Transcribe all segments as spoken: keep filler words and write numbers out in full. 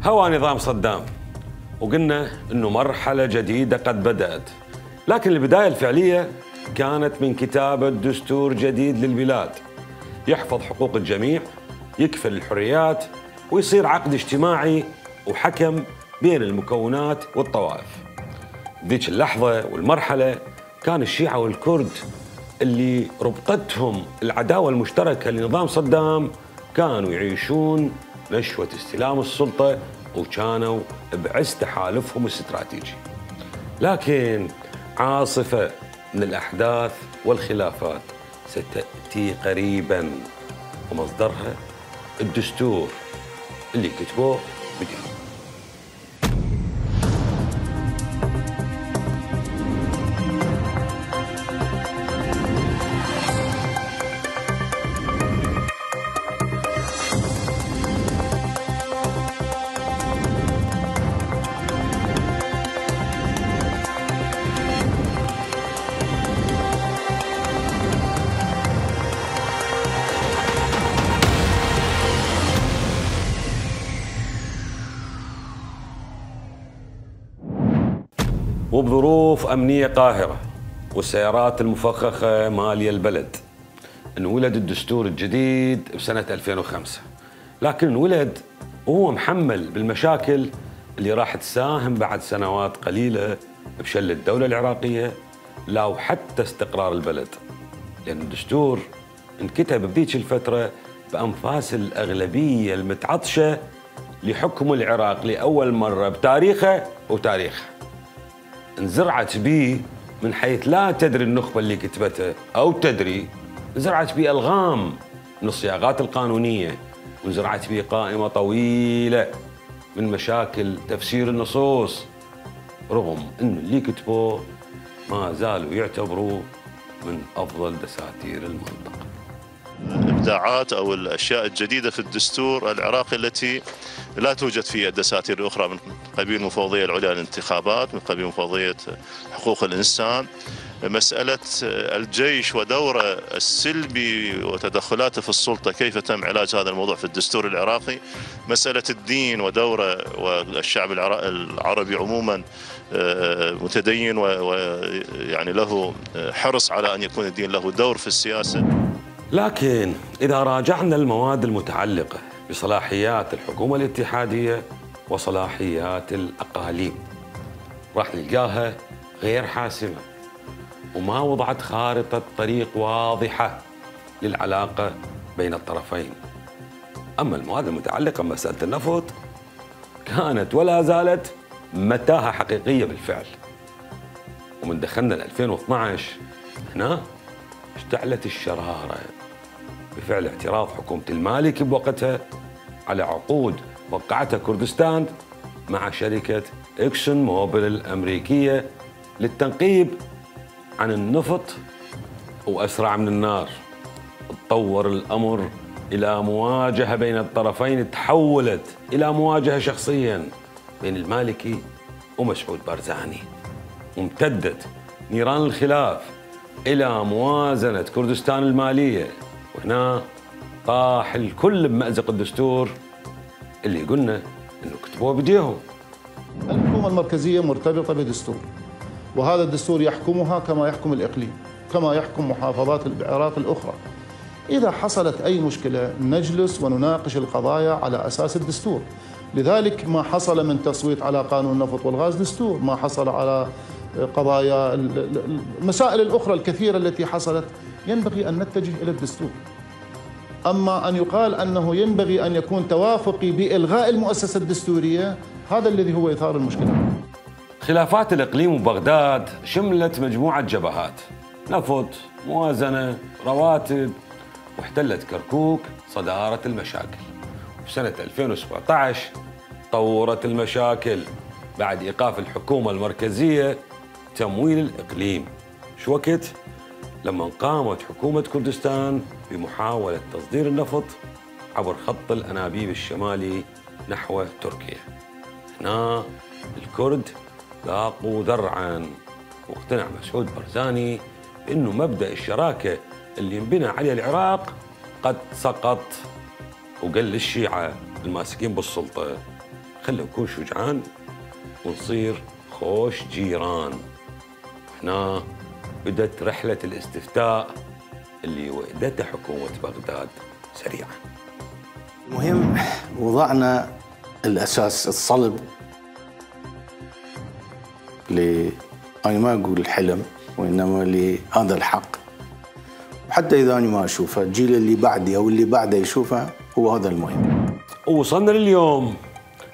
هوى نظام صدام، وقلنا انه مرحلة جديدة قد بدأت، لكن البداية الفعلية كانت من كتابة دستور جديد للبلاد يحفظ حقوق الجميع، يكفل الحريات، ويصير عقد اجتماعي وحكم بين المكونات والطوائف. ذيك اللحظة والمرحلة كان الشيعة والكرد اللي ربطتهم العداوة المشتركة لنظام صدام كانوا يعيشون نشوة استلام السلطة، وكانوا بعز تحالفهم الاستراتيجي. لكن عاصفة من الأحداث والخلافات ستأتي قريباً، ومصدرها الدستور اللي كتبوه بديهم. وبظروف أمنية قاهرة والسيارات المفخخة مالية البلد انولد الدستور الجديد بسنة ألفين وخمسة، لكن انولد وهو محمل بالمشاكل اللي راح تساهم بعد سنوات قليلة بشل الدولة العراقية لا وحتى استقرار البلد، لأن الدستور انكتب بذيك الفترة بأنفاس الأغلبية المتعطشة لحكم العراق لأول مرة بتاريخه وتاريخه. انزرعت به من حيث لا تدري النخبة اللي كتبته أو تدري، انزرعت به ألغام من الصياغات القانونية، وانزرعت به قائمة طويلة من مشاكل تفسير النصوص، رغم أن اللي كتبوه ما زالوا يعتبروه من أفضل دساتير المنطقة. الإبداعات أو الأشياء الجديدة في الدستور العراقي التي لا توجد في الدساتير الأخرى، من قبيل المفوضية العليا للانتخابات، من قبيل مفوضية حقوق الإنسان، مسألة الجيش ودوره السلبي وتدخلاته في السلطة، كيف تم علاج هذا الموضوع في الدستور العراقي، مسألة الدين ودوره والشعب العربي عموما متدين ويعني له حرص على أن يكون الدين له دور في السياسة. لكن إذا راجعنا المواد المتعلقة بصلاحيات الحكومة الاتحادية وصلاحيات الأقاليم راح نلقاها غير حاسمة، وما وضعت خارطة طريق واضحة للعلاقة بين الطرفين. أما المواد المتعلقة بمسألة النفط كانت ولا زالت متاهة حقيقية بالفعل، ومن دخلنا ل ألفين واثنعش هنا اشتعلت الشرارة بفعل اعتراض حكومة المالكي بوقتها على عقود وقعتها كردستان مع شركة إكسون موبيل الأمريكية للتنقيب عن النفط. وأسرع من النار تطور الأمر إلى مواجهة بين الطرفين، تحولت إلى مواجهة شخصيا بين المالكي ومسعود بارزاني، وامتدت نيران الخلاف إلى موازنة كردستان المالية، وهنا طاح الكل بمأزق الدستور اللي قلنا إنه كتبوه بديهم. الحكومة المركزية مرتبطة بدستور، وهذا الدستور يحكمها كما يحكم الإقليم، كما يحكم محافظات العراق الأخرى. إذا حصلت أي مشكلة نجلس ونناقش القضايا على أساس الدستور. لذلك ما حصل من تصويت على قانون النفط والغاز دستور، ما حصل على قضايا المسائل الأخرى الكثيرة التي حصلت ينبغي أن نتجه إلى الدستور. أما أن يقال أنه ينبغي أن يكون توافقي بإلغاء المؤسسة الدستورية، هذا الذي هو إثار المشكلة. خلافات الإقليم وبغداد شملت مجموعة جبهات، نفط، موازنة، رواتب، واحتلت كركوك صدارة المشاكل. وسنة ألفين وسبعة عشر طورت المشاكل بعد إيقاف الحكومة المركزية تمويل الإقليم. شو وقت؟ لما قامت حكومة كردستان بمحاولة تصدير النفط عبر خط الأنابيب الشمالي نحو تركيا. هنا الكرد لاقوا ذرعاً، واقتنع مسعود بارزاني بأنه مبدأ الشراكة اللي ينبنى عليه العراق قد سقط، وقال للشيعة الماسكين بالسلطة خلوا نكون شجعان ونصير خوش جيران. هنا بدت رحلة الاستفتاء اللي وأدتها حكومة بغداد سريعا. المهم وضعنا الأساس الصلب ل أنا ما أقول الحلم وإنما لهذا الحق، وحتى إذا أنا ما أشوفه الجيل اللي بعدي أو اللي بعده يشوفه، هو هذا المهم. ووصلنا لليوم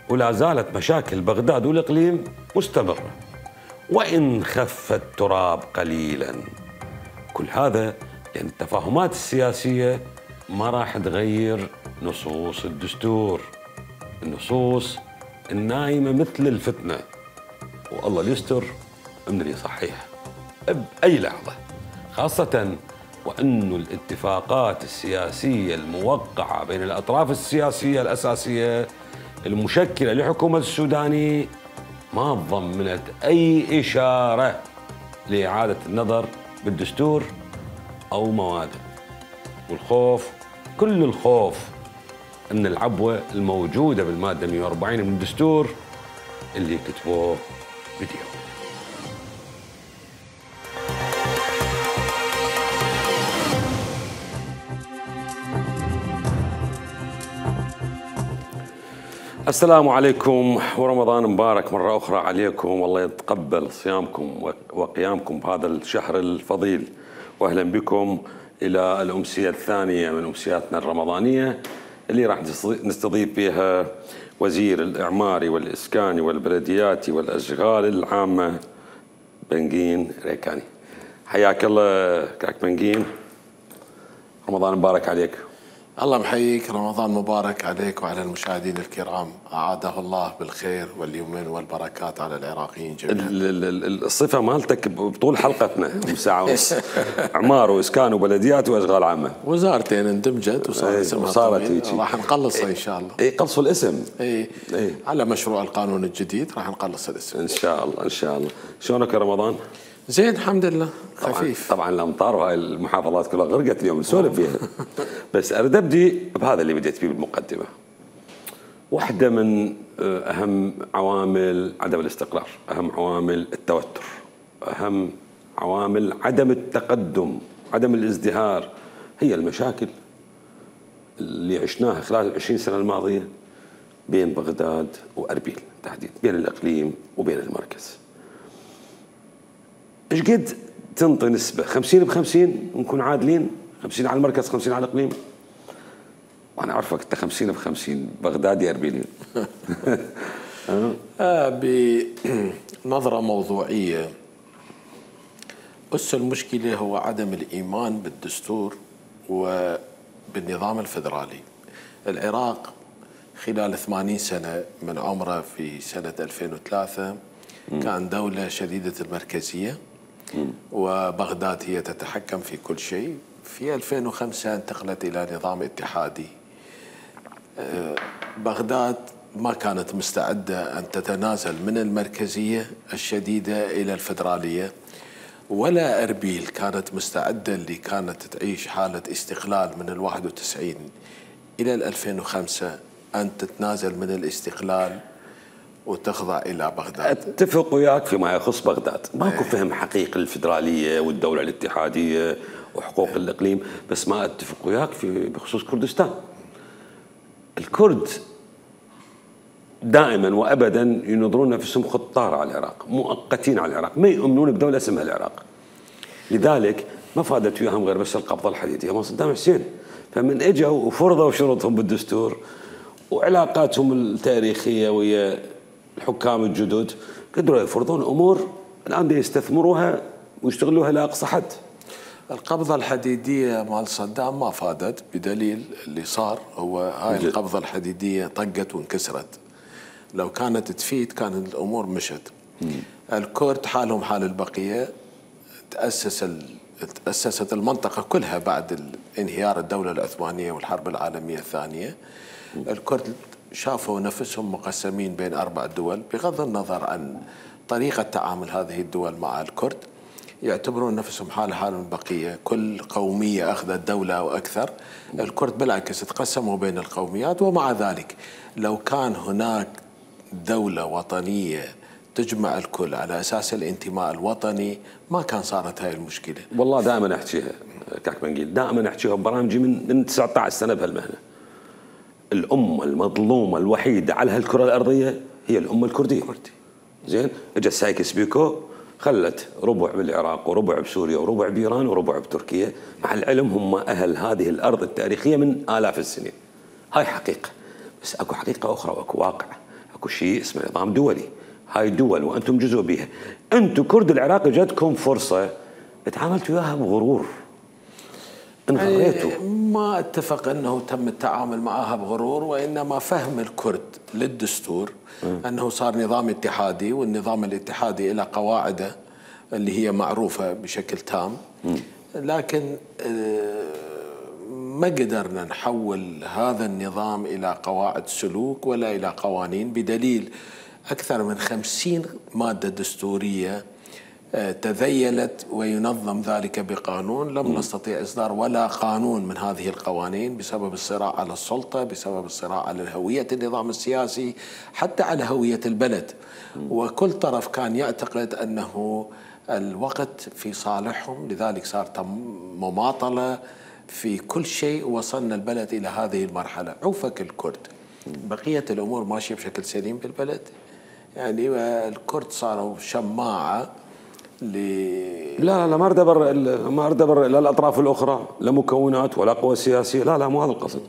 ولا زالت مشاكل بغداد والإقليم مستمرة وإن خف التراب قليلا. كل هذا لأن التفاهمات السياسية ما راح تغير نصوص الدستور، النصوص النايمة مثل الفتنة، والله يستر من اللي يصحيها بأي لحظة، خاصة وأن الاتفاقات السياسية الموقعة بين الأطراف السياسية الأساسية المشكلة لحكومة السوداني ما ضمنت أي إشارة لإعادة النظر بالدستور أو مواده. والخوف كل الخوف أن العبوة الموجودة بالمادة مئة وأربعين من الدستور اللي كتبوه بديهم. السلام عليكم ورمضان مبارك مرة أخرى عليكم، والله يتقبل صيامكم وقيامكم بهذا الشهر الفضيل، وأهلا بكم إلى الأمسية الثانية من أمسياتنا الرمضانية اللي راح نستضيف فيها وزير الإعمار والإسكان والبلديات والأشغال العامة بنقين ريكاني. حياك الله كاك بنقين، رمضان مبارك عليك. الله محييك، رمضان مبارك عليك وعلى المشاهدين الكرام، أعاده الله بالخير واليمن والبركات على العراقيين جميعا. الصفة مالتك بطول حلقتنا ساعة ونص إعمار وإسكان وبلديات وأشغال عامة، وزارتين اندمجت وصار اسمها وصارت راح نقلصها إن شاء الله. اي قلصوا الاسم. اي اي على مشروع القانون الجديد راح نقلص الاسم إن شاء الله إن شاء الله. شلونك يا رمضان؟ زين الحمد لله، خفيف. طبعا, طبعاً الأمطار وهاي المحافظات كلها غرقت اليوم نسولف فيها. بس أريد أبدي بهذا اللي بديت فيه بالمقدمة. واحدة من أهم عوامل عدم الاستقرار، أهم عوامل التوتر، أهم عوامل عدم التقدم، عدم الازدهار، هي المشاكل اللي عشناها خلال العشرين سنة الماضية بين بغداد وأربيل تحديدا، بين الإقليم وبين المركز. ايش قد تنطي نسبة خمسين بخمسين ونكون عادلين؟ خمسين على المركز خمسين على الإقليم؟ وأنا أعرفك أنت خمسين بخمسين بغدادي أربيلي. آه بنظرة موضوعية، أس المشكلة هو عدم الإيمان بالدستور وبالنظام الفدرالي. العراق خلال ثمانين سنة من عمره في سنة ألفين وثلاثة كان دولة شديدة المركزية وبغداد هي تتحكم في كل شيء. في ألفين وخمسة انتقلت إلى نظام اتحادي. بغداد ما كانت مستعدة أن تتنازل من المركزية الشديدة إلى الفدرالية، ولا أربيل كانت مستعدة اللي كانت تعيش حالة استقلال من الواحد وتسعين إلى الألفين وخمسة أن تتنازل من الاستقلال وتخضع إلى بغداد. أتفق وياك فيما يخص بغداد، ماكو فهم حقيقي للفدرالية والدولة الاتحادية وحقوق الإقليم، بس ما أتفق وياك في بخصوص كردستان. الكرد دائما وأبدا ينظرون نفسهم خطار على العراق، مؤقتين على العراق، ما يؤمنون بدولة اسمها العراق. لذلك ما فادت وياهم غير بس القبضة الحديدية مال صدام حسين. فمن اجوا وفرضوا شروطهم بالدستور وعلاقاتهم التاريخية ويا الحكام الجدد قدروا يفرضون أمور الآن يستثمروها ويشتغلوها لأقصى حد. القبضة الحديدية مال صدام ما فادت، بدليل اللي صار هو هاي جد. القبضة الحديدية طقت وانكسرت، لو كانت تفيد كان الأمور مشت. مم. الكرد حالهم حال البقية، تأسس ال... تأسست المنطقة كلها بعد انهيار الدولة العثمانية والحرب العالمية الثانية. مم. الكرد شافوا نفسهم مقسمين بين أربع دول، بغض النظر عن طريقة تعامل هذه الدول مع الكرد، يعتبرون نفسهم حال حال البقية، كل قومية أخذت دولة وأكثر. الكرد بالعكس تقسموا بين القوميات، ومع ذلك لو كان هناك دولة وطنية تجمع الكل على أساس الانتماء الوطني ما كان صارت هاي المشكلة. والله دائما أحكيها كاك منقيل، دائما أحكيها ببرامجي من من تسعة عشر سنة بهالمهنة. الأمة المظلومة الوحيدة على هالكرة الأرضية هي الأمة الكردية. زين، اجت سايكس بيكو خلت ربع بالعراق وربع بسوريا وربع بإيران وربع بتركيا، مع العلم هم أهل هذه الأرض التاريخية من آلاف السنين. هاي حقيقة، بس أكو حقيقة أخرى وأكو واقع، أكو شيء اسمه نظام دولي. هاي دول وأنتم جزء بيها. أنتم كرد العراق جاتكم فرصة تعاملتوا وياها بغرور، انغريتوا. ما اتفق أنه تم التعامل معها بغرور، وإنما فهم الكرد للدستور م. أنه صار نظام اتحادي، والنظام الاتحادي إلى قواعده اللي هي معروفة بشكل تام. م. لكن ما قدرنا نحول هذا النظام إلى قواعد سلوك ولا إلى قوانين، بدليل أكثر من خمسين مادة دستورية تذيلت وينظم ذلك بقانون. لم نستطيع إصدار ولا قانون من هذه القوانين بسبب الصراع على السلطة، بسبب الصراع على هوية النظام السياسي، حتى على هوية البلد. وكل طرف كان يعتقد أنه الوقت في صالحهم، لذلك صار مماطلة في كل شيء. وصلنا البلد إلى هذه المرحلة. عوفك الكرد، بقية الأمور ماشية بشكل سليم بالبلد. يعني الكرد صاروا شماعة ل لا لا ما اريد ابرر ما اريد ابرر لا الاطراف الاخرى، لا مكونات ولا قوى سياسيه، لا لا مو هذا القصد.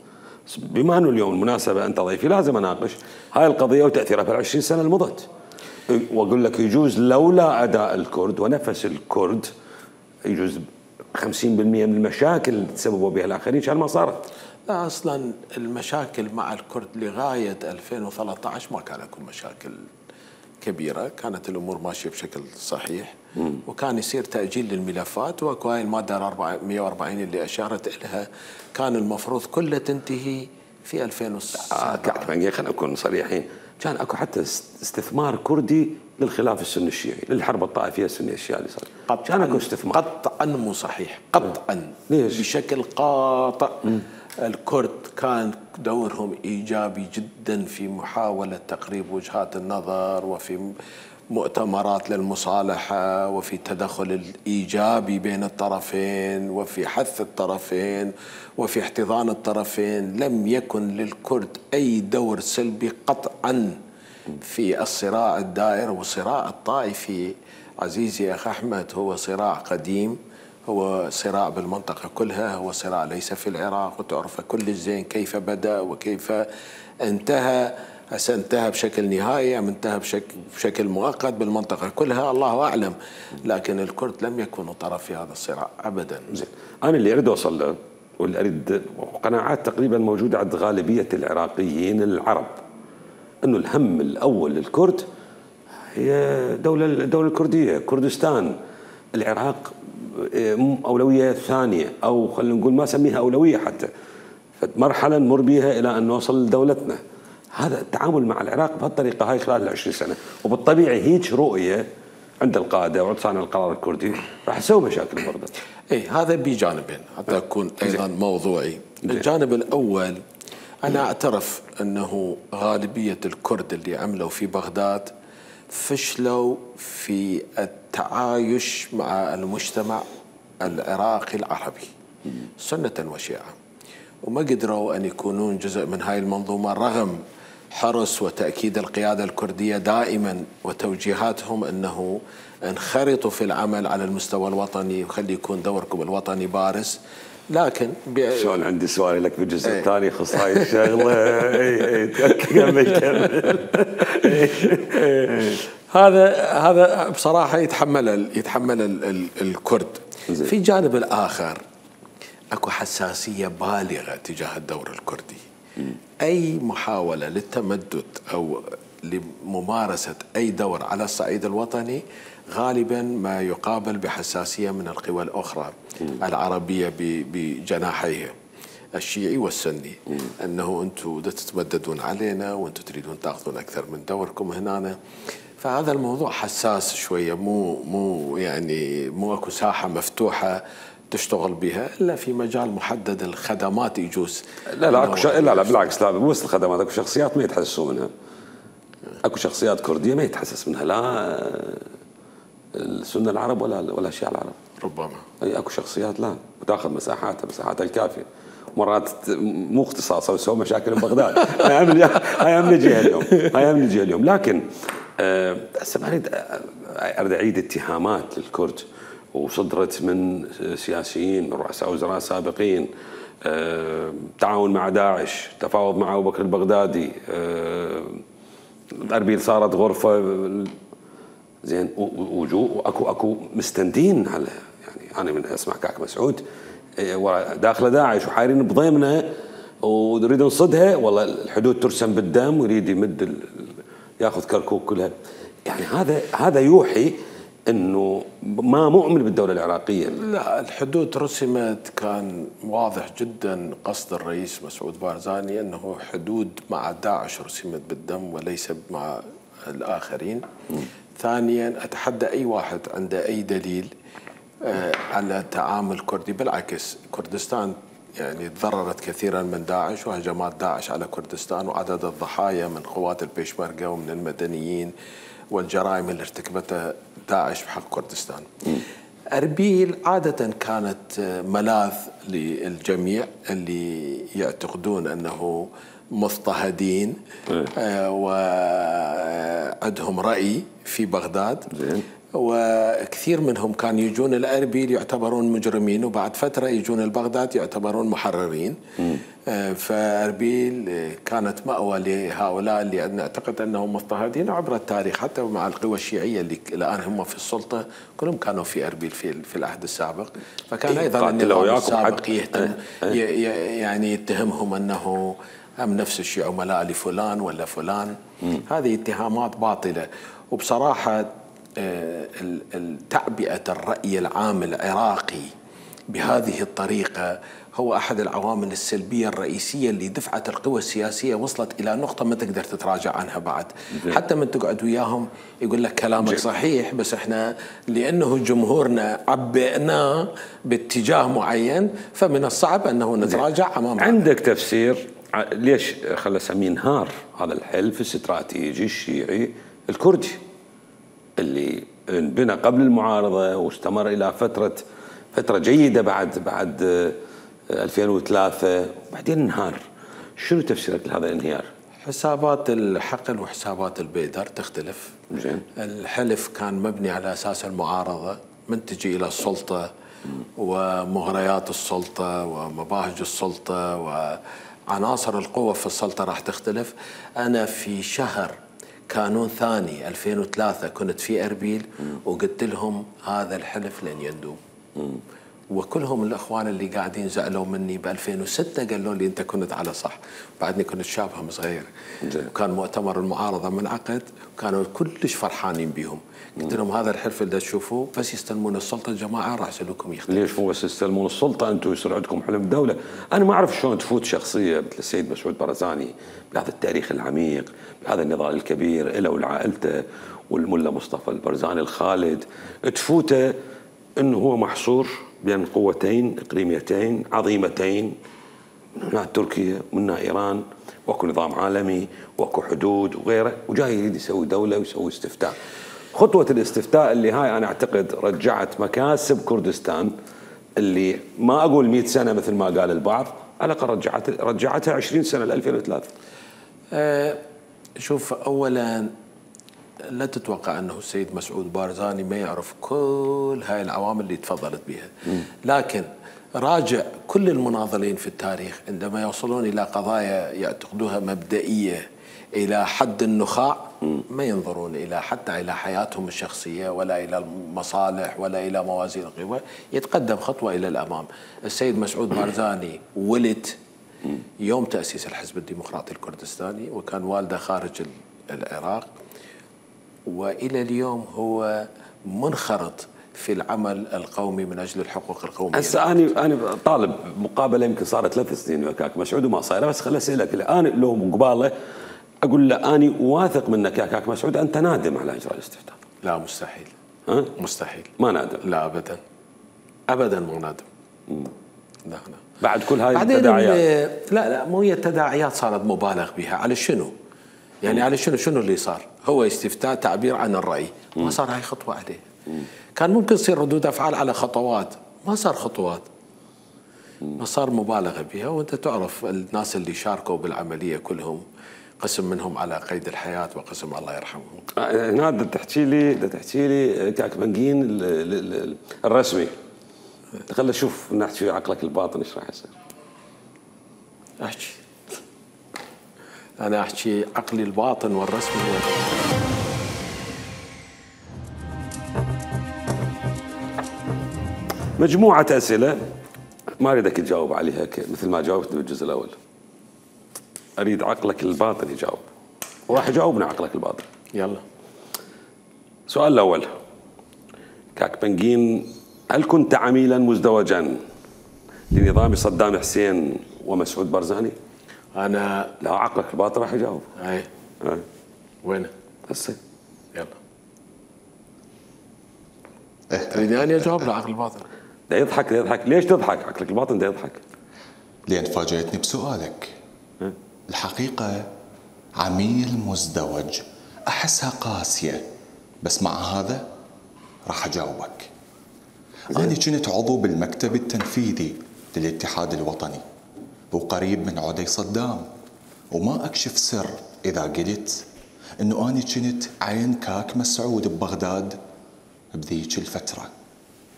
بما انه اليوم المناسبه انت ضيفي لازم اناقش هاي القضيه وتاثيرها في العشرين سنه المضت. واقول لك يجوز لولا اداء الكرد ونفس الكرد يجوز خمسين بالمئة من المشاكل اللي تسببوا بها الاخرين كان ما صارت. لا، اصلا المشاكل مع الكرد لغايه ألفين وثلاثة عشر ما كان يكون مشاكل كبيرة، كانت الأمور ماشية بشكل صحيح. مم. وكان يصير تأجيل للملفات، وأكو هاي المادة مئة وأربعين اللي أشارت إلها كان المفروض كلها تنتهي في ألفين وسبعة. آه خلينا نكون صريحين، كان أكو حتى استثمار كردي للخلاف السني الشيعي، للحرب الطائفية السنية الشيعية اللي صار. كان أكو استثمار قطعا مو صحيح، قطعا ليش؟ بشكل قاطع. مم. الكرد كان دورهم إيجابي جدا في محاولة تقريب وجهات النظر، وفي مؤتمرات للمصالحة، وفي التدخل الإيجابي بين الطرفين، وفي حث الطرفين، وفي احتضان الطرفين. لم يكن للكرد أي دور سلبي قطعا في الصراع الدائر. والصراع الطائفي عزيزي أخ أحمد هو صراع قديم، هو صراع بالمنطقة كلها، هو صراع ليس في العراق، وتعرف كل الزين كيف بدأ وكيف انتهى. هسه انتهى بشكل نهائي أم انتهى بشكل, بشكل مؤقت بالمنطقة كلها الله أعلم، لكن الكرد لم يكونوا طرف في هذا الصراع أبدا. زين، أنا اللي أريد أوصل له واللي أريد قناعات تقريبا موجودة عند غالبية العراقيين العرب، أنه الهم الأول للكرد هي دولة الدولة الكردية، كردستان. العراق أولوية ثانية، أو خلينا نقول ما سميها أولوية حتى، فمرحلة نمر بها إلى أن نوصل لدولتنا. هذا التعامل مع العراق بهالطريقة هاي خلال العشرين سنة، وبالطبيعي هيك رؤية عند القادة وعند صانع القرار الكردي راح يسوي مشاكل برضه. إيه، هذا بجانبين حتى أكون أيضا موضوعي. الجانب الأول، أنا أعترف أنه غالبية الكرد اللي عملوا في بغداد فشلوا في التعايش مع المجتمع العراقي العربي سنة وشيعة، وما قدروا أن يكونون جزء من هاي المنظومة رغم حرص وتأكيد القيادة الكردية دائما وتوجيهاتهم أنه انخرطوا في العمل على المستوى الوطني وخلي يكون دوركم الوطني بارز. لكن شلون عندي سؤال لك بالجزء ايه. الثاني يخص هاي الشغله. اي اي كمل كمل. هذا هذا بصراحه يتحمل يتحمل ال ال الكرد. زي. في جانب الاخر اكو حساسيه بالغه تجاه الدور الكردي. م. اي محاوله للتمدد او لممارسه اي دور على الصعيد الوطني غالبا ما يقابل بحساسيه من القوى الاخرى م. العربيه بجناحيها الشيعي والسني. م. انه انتم تتمددون علينا وانتم تريدون تاخذون اكثر من دوركم هنا. فهذا الموضوع حساس شويه، مو مو يعني مو اكو ساحه مفتوحه تشتغل بها الا في مجال محدد. الخدمات يجوز لا لا اكو لا لا بالعكس، لا بس الخدمات اكو شخصيات ما يتحسسوا منها. اكو شخصيات كرديه ما يتحسس منها لا السنه العرب ولا ولا الشيعة العرب. ربما اي اكو شخصيات لا وتاخذ مساحاتها مساحاتها الكافيه، مرات مو اختصاصها وتسوي مشاكل ببغداد. هاي هم نجيها اليوم، هاي هم نجيها اليوم. لكن هسه ما اريد اريد اعيد اتهامات للكرد وصدرت من سياسيين رؤساء وزراء سابقين، تعاون مع داعش، تفاوض مع ابو بكر البغدادي، اربيل صارت غرفه زين، وجو اكو اكو مستندين على يعني انا من اسمع كاك مسعود داخله داعش وحايرين بضيمنا ونريد نصدها، والله الحدود ترسم بالدم ويريد يمد ياخذ كركوك كلها. يعني هذا هذا يوحي انه ما مؤمن بالدوله العراقيه. لا الحدود رسمت كان واضح جدا قصد الرئيس مسعود بارزاني انه حدود مع داعش رسمت بالدم وليس مع الاخرين. م. ثانيا اتحدى اي واحد عنده اي دليل على تعامل كردي، بالعكس كردستان يعني تضررت كثيرا من داعش وهجمات داعش على كردستان، وعدد الضحايا من قوات البيشمركة ومن المدنيين والجرائم اللي ارتكبتها داعش بحق كردستان. م. أربيل عادة كانت ملاذ للجميع اللي يعتقدون أنه مضطهدين آه وعندهم رأي في بغداد. زين. وكثير منهم كانوا يجون الأربيل يعتبرون مجرمين، وبعد فترة يجون البغداد يعتبرون محررين. آه فأربيل كانت مأوى لهؤلاء اللي نعتقد أنهم مضطهدين عبر التاريخ، حتى مع القوى الشيعية اللي الآن هم في السلطة كلهم كانوا في أربيل في في العهد السابق. فكان أيضا النظام السابق يهتم يعني يتهمهم أنه هم نفس الشيء عملاء لفلان ولا فلان. م. هذه اتهامات باطلة. وبصراحة تعبئة الرأي العام العراقي بهذه الطريقة هو أحد العوامل السلبية الرئيسية اللي دفعت القوى السياسية وصلت إلى نقطة ما تقدر تتراجع عنها بعد. حتى من تقعد وياهم يقول لك كلامك صحيح، بس احنا لأنه جمهورنا عبئناه باتجاه معين فمن الصعب أنه نتراجع أمام. عندك تفسير ليش خلى اسميه انهار هذا الحلف الاستراتيجي الشيعي الكردي اللي انبنى قبل المعارضه واستمر الى فتره فتره جيده بعد بعد ألفين وثلاثة وبعدين انهار؟ شنو تفسيرك لهذا الانهيار؟ حسابات الحقل وحسابات البيدر تختلف. زين. الحلف كان مبني على اساس المعارضه، من تجي الى السلطه ومغريات السلطه ومباهج السلطه وعناصر القوة في السلطة راح تختلف. أنا في شهر كانون ثاني ألفين وثلاثة كنت في أربيل وقلت لهم هذا الحلف لن يندوم، وكلهم الأخوان اللي قاعدين زعلوا مني. ب ألفين وستة قالوا لي أنت كنت على صح، بعدني كنت شابهم صغير. وكان مؤتمر المعارضة منعقد وكانوا كلش فرحانين بيهم. قلت لهم هذا الحلف اللي تشوفوه بس يستلمون السلطة الجماعة راح سلوكم يختلف. ليش مو بس يستلمون السلطة، أنتم يصير عندكم حلم دولة؟ أنا ما أعرف شلون تفوت شخصية مثل السيد مسعود بارزاني بهذا التاريخ العميق، بهذا النضال الكبير له ولعائلته والملا مصطفى البرزاني الخالد، تفوته أنه هو محصور بين قوتين إقليميتين عظيمتين، منها تركيا ومنها إيران، واكو نظام عالمي واكو حدود وغيره، وجاي يريد يسوي دولة ويسوي استفتاء. خطوة الاستفتاء اللي هاي أنا أعتقد رجعت مكاسب كردستان اللي ما أقول مئة سنة مثل ما قال البعض، على الأقل رجعت رجعتها عشرين سنة ل ألفين وثلاثة. أه شوف، أولا لا تتوقع أنه السيد مسعود بارزاني ما يعرف كل هاي العوامل اللي تفضلت بها، لكن راجع كل المناضلين في التاريخ عندما يوصلون إلى قضايا يعتقدوها مبدئية إلى حد النخاع ما ينظرون إلى حتى إلى حياتهم الشخصية ولا إلى المصالح ولا إلى موازين القوى، يتقدم خطوة إلى الأمام. السيد مسعود بارزاني ولد يوم تأسيس الحزب الديمقراطي الكردستاني، وكان والده خارج العراق، وإلى اليوم هو منخرط في العمل القومي من اجل الحقوق القوميه. هسه انا انا طالب مقابله يمكن صارت ثلاث سنين وياك مسعود وما صايره، بس خليني اسالك الان لو قباله اقول له اني واثق منك يا كاك مسعود انت نادم على اجراء الاستفتاء. لا مستحيل. ها؟ مستحيل. ما نادم؟ لا ابدا. ابدا مو نادم. مم. لا لا. بعد كل هاي التداعيات. لا لا مو هي التداعيات صارت مبالغ بها، على شنو؟ يعني على شنو شنو اللي صار؟ هو استفتاء تعبير عن الرأي، ما صار هاي خطوة عليه. كان ممكن تصير ردود أفعال على خطوات، ما صار خطوات، ما صار مبالغة بها. وأنت تعرف الناس اللي شاركوا بالعملية كلهم قسم منهم على قيد الحياة وقسم الله يرحمهم. هنا بدك تحكي لي بدك تحكي لي كاك بنجين الرسمي. خلينا نشوف نحكي عقلك الباطن ايش راح يصير. احكي. انا احكي عقلي الباطن والرسمي هو مجموعة أسئلة ما أريدك تجاوب عليها مثل ما جاوبت بالجزء الأول. أريد عقلك الباطن يجاوب، وراح يجاوبنا عقلك الباطن. يلا. السؤال الأول، كاك بنجين، هل كنت عميلا مزدوجا لنظام صدام حسين ومسعود برزاني؟ أنا لا، عقلك الباطن راح يجاوب. أي. أه. وينه؟ هسه. يلا. تريدني أنا أجاوب له عقل الباطن؟ ده يضحك ده يضحك، ليش تضحك؟ عقلك الباطن ده يضحك. لأن فاجأتني بسؤالك. أه؟ الحقيقة عميل مزدوج أحسها قاسية، بس مع هذا راح أجاوبك. أنا كنت عضو بالمكتب التنفيذي للاتحاد الوطني وقريب من عدي صدام، وما أكشف سر إذا قلت أنه أنا كنت عين كاك مسعود ببغداد بذيك الفترة.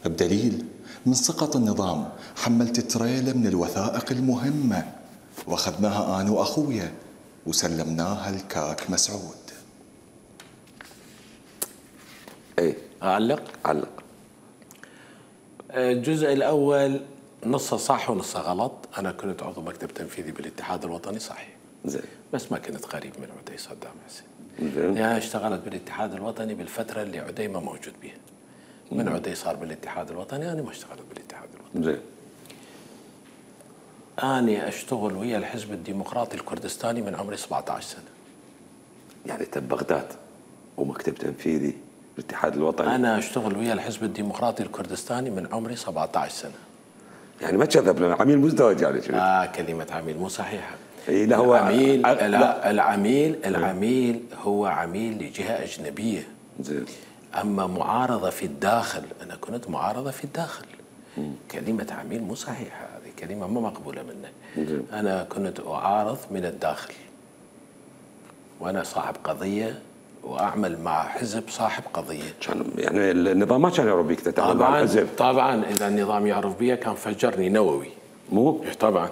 بدليل من سقط النظام حملت تريلة من الوثائق المهمة واخذناها أنا وأخويا وسلمناها لكاك مسعود. ايه أعلق؟ علق. الجزء الأول نصه صح ونصه غلط. أنا كنت عضو مكتب تنفيذي بالاتحاد الوطني صحيح. زين. بس ما كنت قريب من عدي صدام حسين. زين. يعني اشتغلت بالاتحاد الوطني بالفترة اللي عدي ما موجود بها. من عدي صار بالاتحاد الوطني، أنا ما اشتغلت بالاتحاد الوطني. زين. أنا أشتغل ويا الحزب الديمقراطي الكردستاني من عمري سبعة عشر سنة. يعني أنت ببغداد ومكتب تنفيذي الاتحاد الوطني. أنا أشتغل ويا الحزب الديمقراطي الكردستاني من عمري سبعة عشر سنة. يعني ما تكذب لنا، عميل مزدوج يعني شنو؟ آه كلمة عميل مو صحيحة. اي لا، هو العميل ع... لا العميل العميل هو عميل لجهة أجنبية. زين. أما معارضة في الداخل، أنا كنت معارضة في الداخل. مم. كلمة عميل مو صحيحة، هذه كلمة ما مقبولة منك. مم. أنا كنت أعارض من الداخل، وأنا صاحب قضية وأعمل مع حزب صاحب قضية. كان يعني النظام ما كان يعرف بيك تتعامل مع الحزب. طبعا إذا النظام يعرف بي كان فجرني نووي. مو؟ طبعا.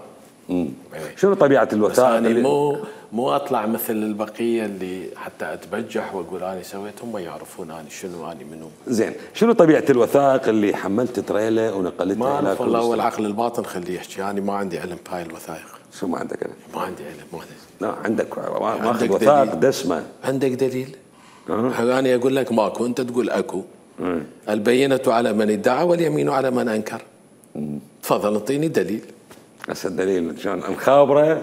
مم. شنو طبيعة الوثائق؟ اللي مو مو اطلع مثل البقيه اللي حتى اتبجح واقول انا سويت، هم يعرفون انا شنو انا منو. زين، شنو طبيعة الوثائق اللي حملت تريلا ونقلتها ما الى اعرف والله. هو العقل الباطن خليه يحكي، انا يعني ما عندي علم بهاي الوثائق. شو ما عندك علم؟ ما عندي علم. ما عندي. لا عندك ماخذ وثائق دسمة. عندك دليل؟ أه؟ انا اقول لك ماكو، انت تقول اكو. أه؟ البينة على من ادعى واليمين على من انكر. أه؟ تفضل اعطيني دليل. هسه الدليل شلون؟ مخابرة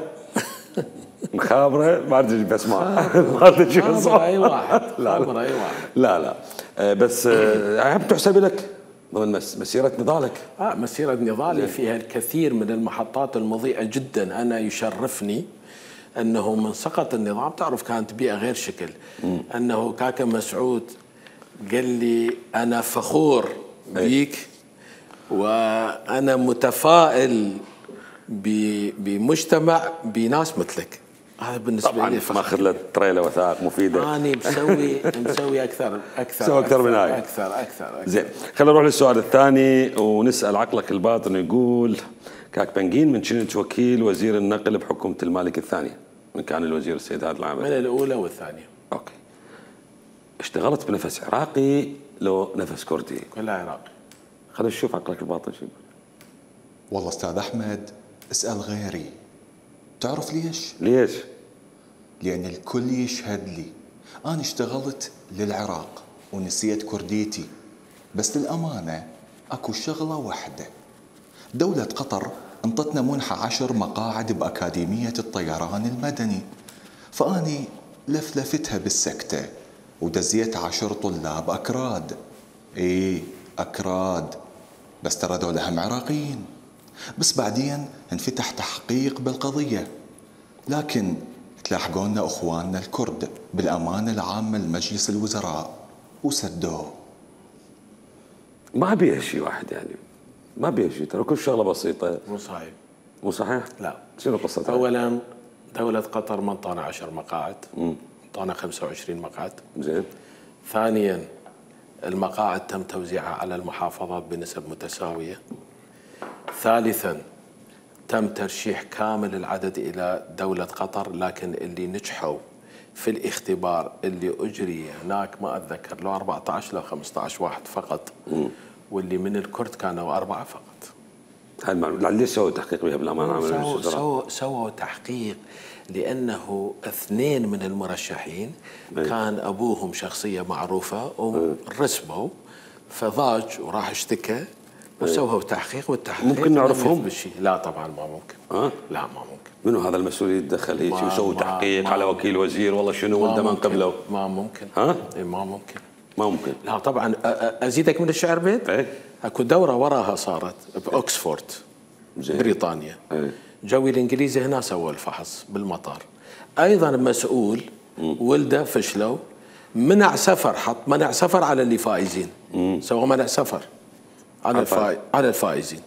مخابرة ما ادري بس ما ما ادري شو خبر اي واحد. لا خبر اي واحد. لا لا أه بس أه تحسب لك ضمن مسيرة نضالك. اه مسيرة نضالي فيها الكثير من المحطات المضيئة جدا. انا يشرفني انه من سقط النظام، تعرف كانت بيئة غير شكل. م. انه كاكا مسعود قال لي انا فخور بيك وانا متفائل بمجتمع بناس مثلك. هذا بالنسبه طبعاً لي فخر. ماخذ له تريلا وثائق مفيده. انا مسوي مسوي اكثر اكثر مسوي اكثر من هاي. اكثر اكثر, أكثر. زين، خلينا نروح للسؤال الثاني ونسال عقلك الباطن. يقول كاك بنجين، من كنت وكيل وزير النقل بحكومه المالك الثانيه، من كان الوزير السيد هذا العام؟ من الاولى والثانيه. اوكي. اشتغلت بنفس عراقي لو نفس كردي؟ كلها عراقي. خلينا نشوف عقلك الباطن شو يقول. والله استاذ احمد اسال غيري. تعرف ليش؟ ليش؟ لأن الكل يشهد لي. أنا اشتغلت للعراق ونسيت كرديتي، بس للأمانة أكو شغلة واحدة. دولة قطر انطتنا منحة عشر مقاعد بأكاديمية الطيران المدني، فأني لفلفتها بالسكتة ودزيت عشر طلاب أكراد. إيه أكراد، بس ترى ذولا هم عراقيين. بس بعدين انفتح تحقيق بالقضية، لكن تلاحقونا اخواننا الكرد بالامانه العامه لمجلس الوزراء وسدوه. ما بيها شيء واحد يعني، ما بيها شيء، ترى كل شغله بسيطه. مو صحيح. مو صحيح؟ لا. شنو قصتها؟ اولا دوله قطر ما انطانا عشر مقاعد، انطانا خمسة وعشرين مقعد. زين. ثانيا المقاعد تم توزيعها على المحافظات بنسب متساويه. ثالثا تم ترشيح كامل العدد الى دوله قطر، لكن اللي نجحوا في الاختبار اللي اجري هناك ما اتذكر لو أربعة عشر لو خمسة عشر واحد فقط، واللي من الكرد كانوا اربعه فقط. هاي المعلومه ليش سووا تحقيق بها بالامانه عامه سووا للوزراء؟ سووا سووا تحقيق لانه اثنين من المرشحين أي. كان ابوهم شخصيه معروفه ورسبوا، فضاج وراح اشتكى وسووا تحقيق، والتحقيق ممكن نعرفهم؟ بالشيء. لا طبعا ما ممكن. ها؟ لا ما ممكن. منو هذا المسؤول يتدخل هيك ما- ويسوي ما- تحقيق ما- على وكيل وزير والله شنو ما وانت ما ممكن. نقبله؟ ما ممكن. ها؟ إيه ما ممكن. ما ممكن. لا طبعا. أ- أ- ازيدك من الشعر بيت؟ ايه. اكو دوره وراها صارت باوكسفورد زين. بريطانيا. ايه. جوي الانجليزي هنا سووا الفحص بالمطار. ايضا مسؤول ولده فشلوا، منع سفر، حط منع سفر على اللي فايزين. سوى منع سفر على الفا... على الفائزين.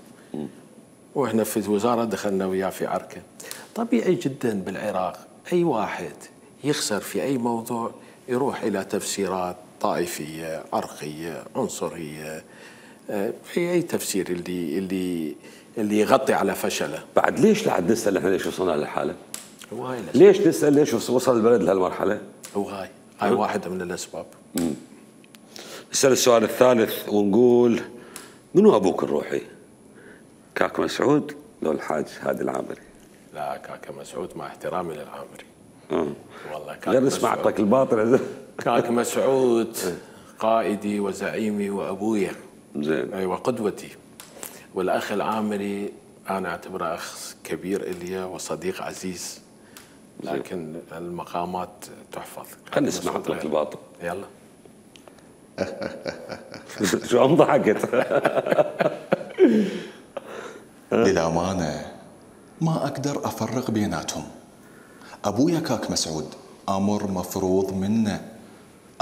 واحنا في الوزاره دخلنا وياه في عركه. طبيعي جدا بالعراق اي واحد يخسر في اي موضوع يروح الى تفسيرات طائفيه، عرقيه، عنصريه، آه، في اي تفسير اللي اللي اللي يغطي على فشله. بعد ليش لا نسال احنا ليش وصلنا لهالحاله؟ هو هاي الأسباب. ليش نسال ليش وصل البلد لهالمرحله؟ هو هاي هاي واحده من الاسباب. نسال السؤال الثالث ونقول منو ابوك الروحي؟ كاك مسعود لو الحاج هادي العامري؟ لا كاكا مسعود مع احترامي للعامري. اه والله كاكا غير نسمع مسعود. اعطاك الباطل. كاكا مسعود قائدي وزعيمي وابويا. زين. ايوه قدوتي. والاخ العامري انا اعتبره اخ كبير الي وصديق عزيز، لكن المقامات تحفظ. خلينا نسمع اعطاك الباطل. يلا. شو عم ضحكت؟ للأمانة ما أقدر أفرق بيناتهم. أبويا كاك مسعود أمر مفروض منه،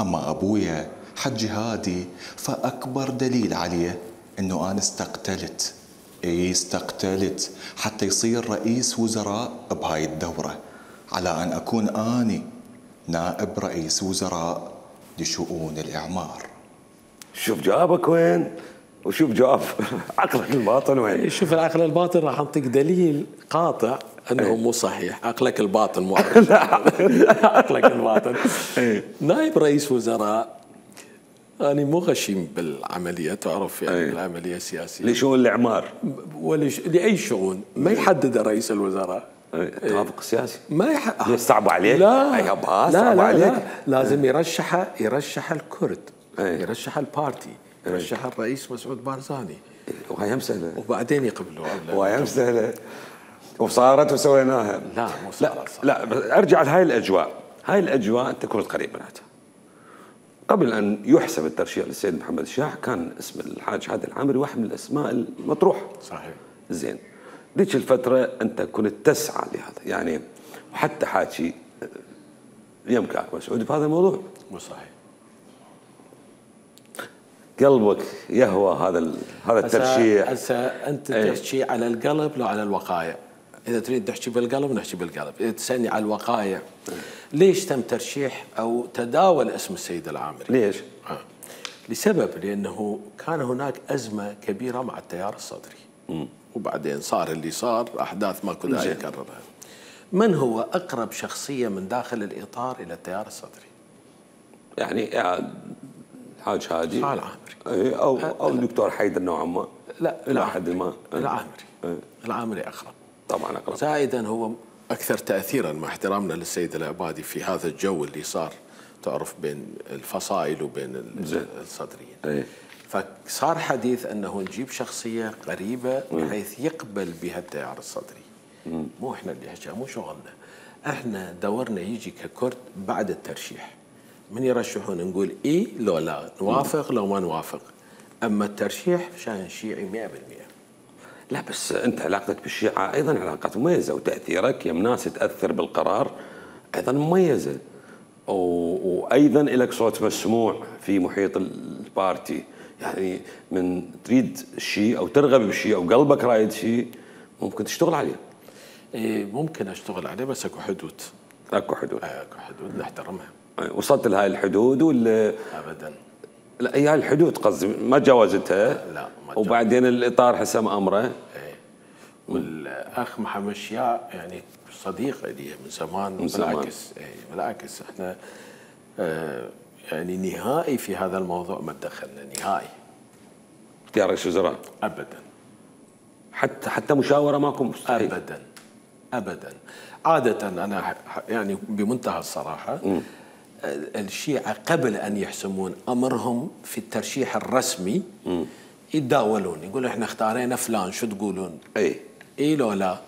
أما أبويا حج هادي فأكبر دليل عليه أنه أنا استقتلت. إيه استقتلت حتى يصير رئيس وزراء بهاي الدورة، على أن أكون أني نائب رئيس وزراء لشؤون الإعمار. شوف جوابك وين وشوف جواب عقلك الباطن وين. شوف العقل الباطن راح اعطيك دليل قاطع انه مو صحيح. عقلك الباطن مو عقلك الباطن. نائب رئيس وزراء أنا مو غشيم بالعملية، تعرف يعني العملية السياسية لشؤون الإعمار ولا لأي شؤون ما يحدد رئيس الوزراء. توافق سياسي ما يح... ليش صعب عليك؟ لا أي لا, لا, لا, عليك. لا لازم يرشح يرشح الكرد، أي. يرشح البارتي، يرشح الرئيس مسعود بارزاني، وهي مسألة وبعدين يقبلوا. وهي مسألة وصارت وسويناها. لا مو صارت. لا, لا ارجع لهاي الأجواء. هاي الأجواء أنت كنت قريب منها. قبل أن يحسب الترشيح للسيد محمد الشاح كان اسم الحاج هادي العامري واحد من الأسماء المطروحة. صحيح. زين. ذيك الفترة أنت كنت تسعى لهذا يعني، وحتى حاكي يمكن مسعود بهذا الموضوع. مو صحيح. قلبك يهوى هذا هذا الترشيح. هسه انت ايه؟ تحكي على القلب لو على الوقايع؟ اذا تريد تحكي بالقلب نحكي بالقلب، اذا تسالني على الوقايع ليش تم ترشيح او تداول اسم السيد العامري؟ ليش؟ آه. لسبب لانه كان هناك ازمه كبيره مع التيار الصدري. م. وبعدين صار اللي صار، احداث ما كنا يكررها. من هو اقرب شخصيه من داخل الاطار الى التيار الصدري؟ يعني الحاج هادي العامري او او الدكتور حيدر نوعا ما. لا العامري ما العامري العامري اقرب طبعا اقرب. زائدا هو اكثر تاثيرا مع احترامنا للسيد العبادي في هذا الجو اللي صار، تعرف بين الفصائل وبين الصدريين. ايه. فصار حديث انه نجيب شخصيه قريبه بحيث يقبل بها التيار الصدري. مم. مو احنا اللي حكى، مو شغلنا. احنا دورنا يجي ككرد بعد الترشيح، من يرشحون نقول اي لو لا، نوافق لو ما نوافق. اما الترشيح شان شيعي مئة بالمئة. لا بس انت علاقتك بالشيعه ايضا علاقات مميزه، وتاثيرك يم ناس تاثر بالقرار ايضا مميزه، وايضا لك صوت مسموع في محيط البارتي، يعني من تريد شيء او ترغب بشيء او قلبك رايد شيء ممكن تشتغل عليه. إيه ممكن اشتغل عليه بس اكو حدود. اكو حدود. اكو حدود نحترمها. وصلت لهاي الحدود ولا؟ ابدا. لا هي الحدود قصدي ما تجاوزتها. لا ما وبعدين الاطار حسم امره. ايه. والاخ محمد شياع يعني صديق لي من زمان. من زمان. بالعكس ايه بالعكس احنا اه يعني نهائي في هذا الموضوع ما تدخلنا نهائي. اختيار رئيس وزراء؟ ابدا. حتى حتى مشاوره ماكو مستحيل؟ ابدا ابدا. عاده انا يعني بمنتهى الصراحه م. الشيعة قبل أن يحسمون أمرهم في الترشيح الرسمي م. يتداولون يقولوا إحنا اختارينا فلان شو تقولون؟ أي إي لو لا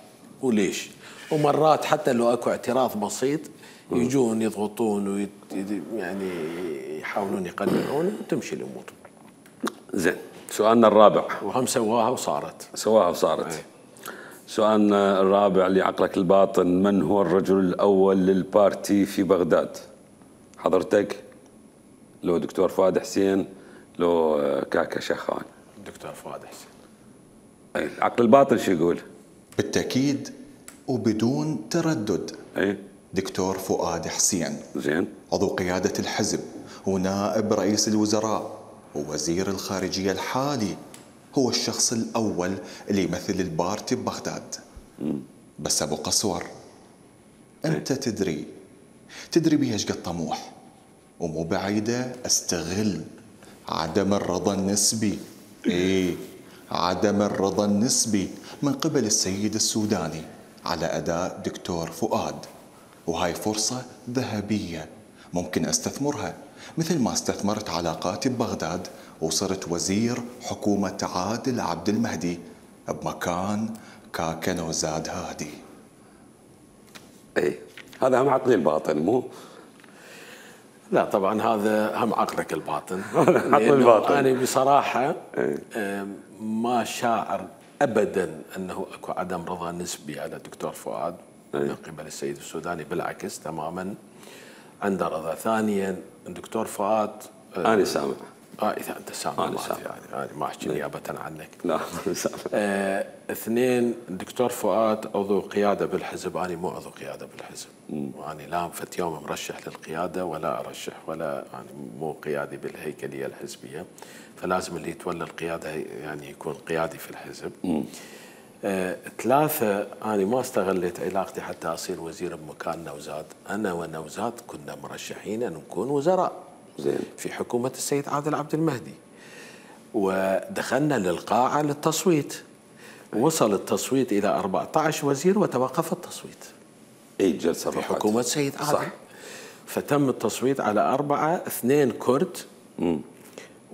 وليش؟ ومرات حتى لو أكو اعتراض بسيط يجون يضغطون ويت يعني يحاولون يقنعون وتمشي الأمور. زين سؤالنا الرابع. وهم سواها وصارت. سواها وصارت. أي. سؤالنا الرابع لعقلك الباطن، من هو الرجل الأول للبارتي في بغداد؟ حضرتك لو دكتور فؤاد حسين لو كاكا شخان؟ دكتور فؤاد حسين. اي العقل الباطن شو يقول؟ بالتأكيد وبدون تردد. اي دكتور فؤاد حسين. زين. عضو قيادة الحزب ونائب رئيس الوزراء ووزير الخارجية الحالي، هو الشخص الأول اللي يمثل البارتي ببغداد. مم. بس أبو قصور أنت ايه؟ تدري تدري بيه ايش قد طموح، ومو بعيدة استغل عدم الرضا النسبي، ايه عدم الرضا النسبي من قبل السيد السوداني على أداء دكتور فؤاد، وهاي فرصة ذهبية ممكن استثمرها مثل ما استثمرت علاقاتي ببغداد وصرت وزير حكومة عادل عبد المهدي بمكان كاكا نوزاد هادي. ايه هذا هم عقلي الباطن مو؟ لا طبعا هذا هم عقلك الباطن. عقل الباطن. أنا بصراحة ما شاعر أبدا أنه أكو عدم رضا نسبي على الدكتور فؤاد من قبل السيد السوداني، بالعكس تماما عنده رضا. ثانيا الدكتور فؤاد أنا سامع. اه اذا انت سامع أنا سامع. يعني انا ما احكي نيابه عنك. لا أنا سامع. آه اثنين الدكتور فؤاد عضو قياده بالحزب، انا مو عضو قياده بالحزب، وانا لا فت يوم مرشح للقياده ولا ارشح ولا يعني مو قيادي بالهيكليه الحزبيه، فلازم اللي يتولى القياده يعني يكون قيادي في الحزب. آه ثلاثه انا ما استغليت علاقتي حتى اصير وزير بمكان نوزاد، انا ونوزاد كنا مرشحين ان نكون وزراء زين في حكومة السيد عادل عبد المهدي، ودخلنا للقاعة للتصويت، وصل التصويت إلى أربعة عشر وزير وتوقف التصويت. أي جلسة في حكومة السيد عادل. صح. فتم التصويت على أربعة، اثنين كرد م.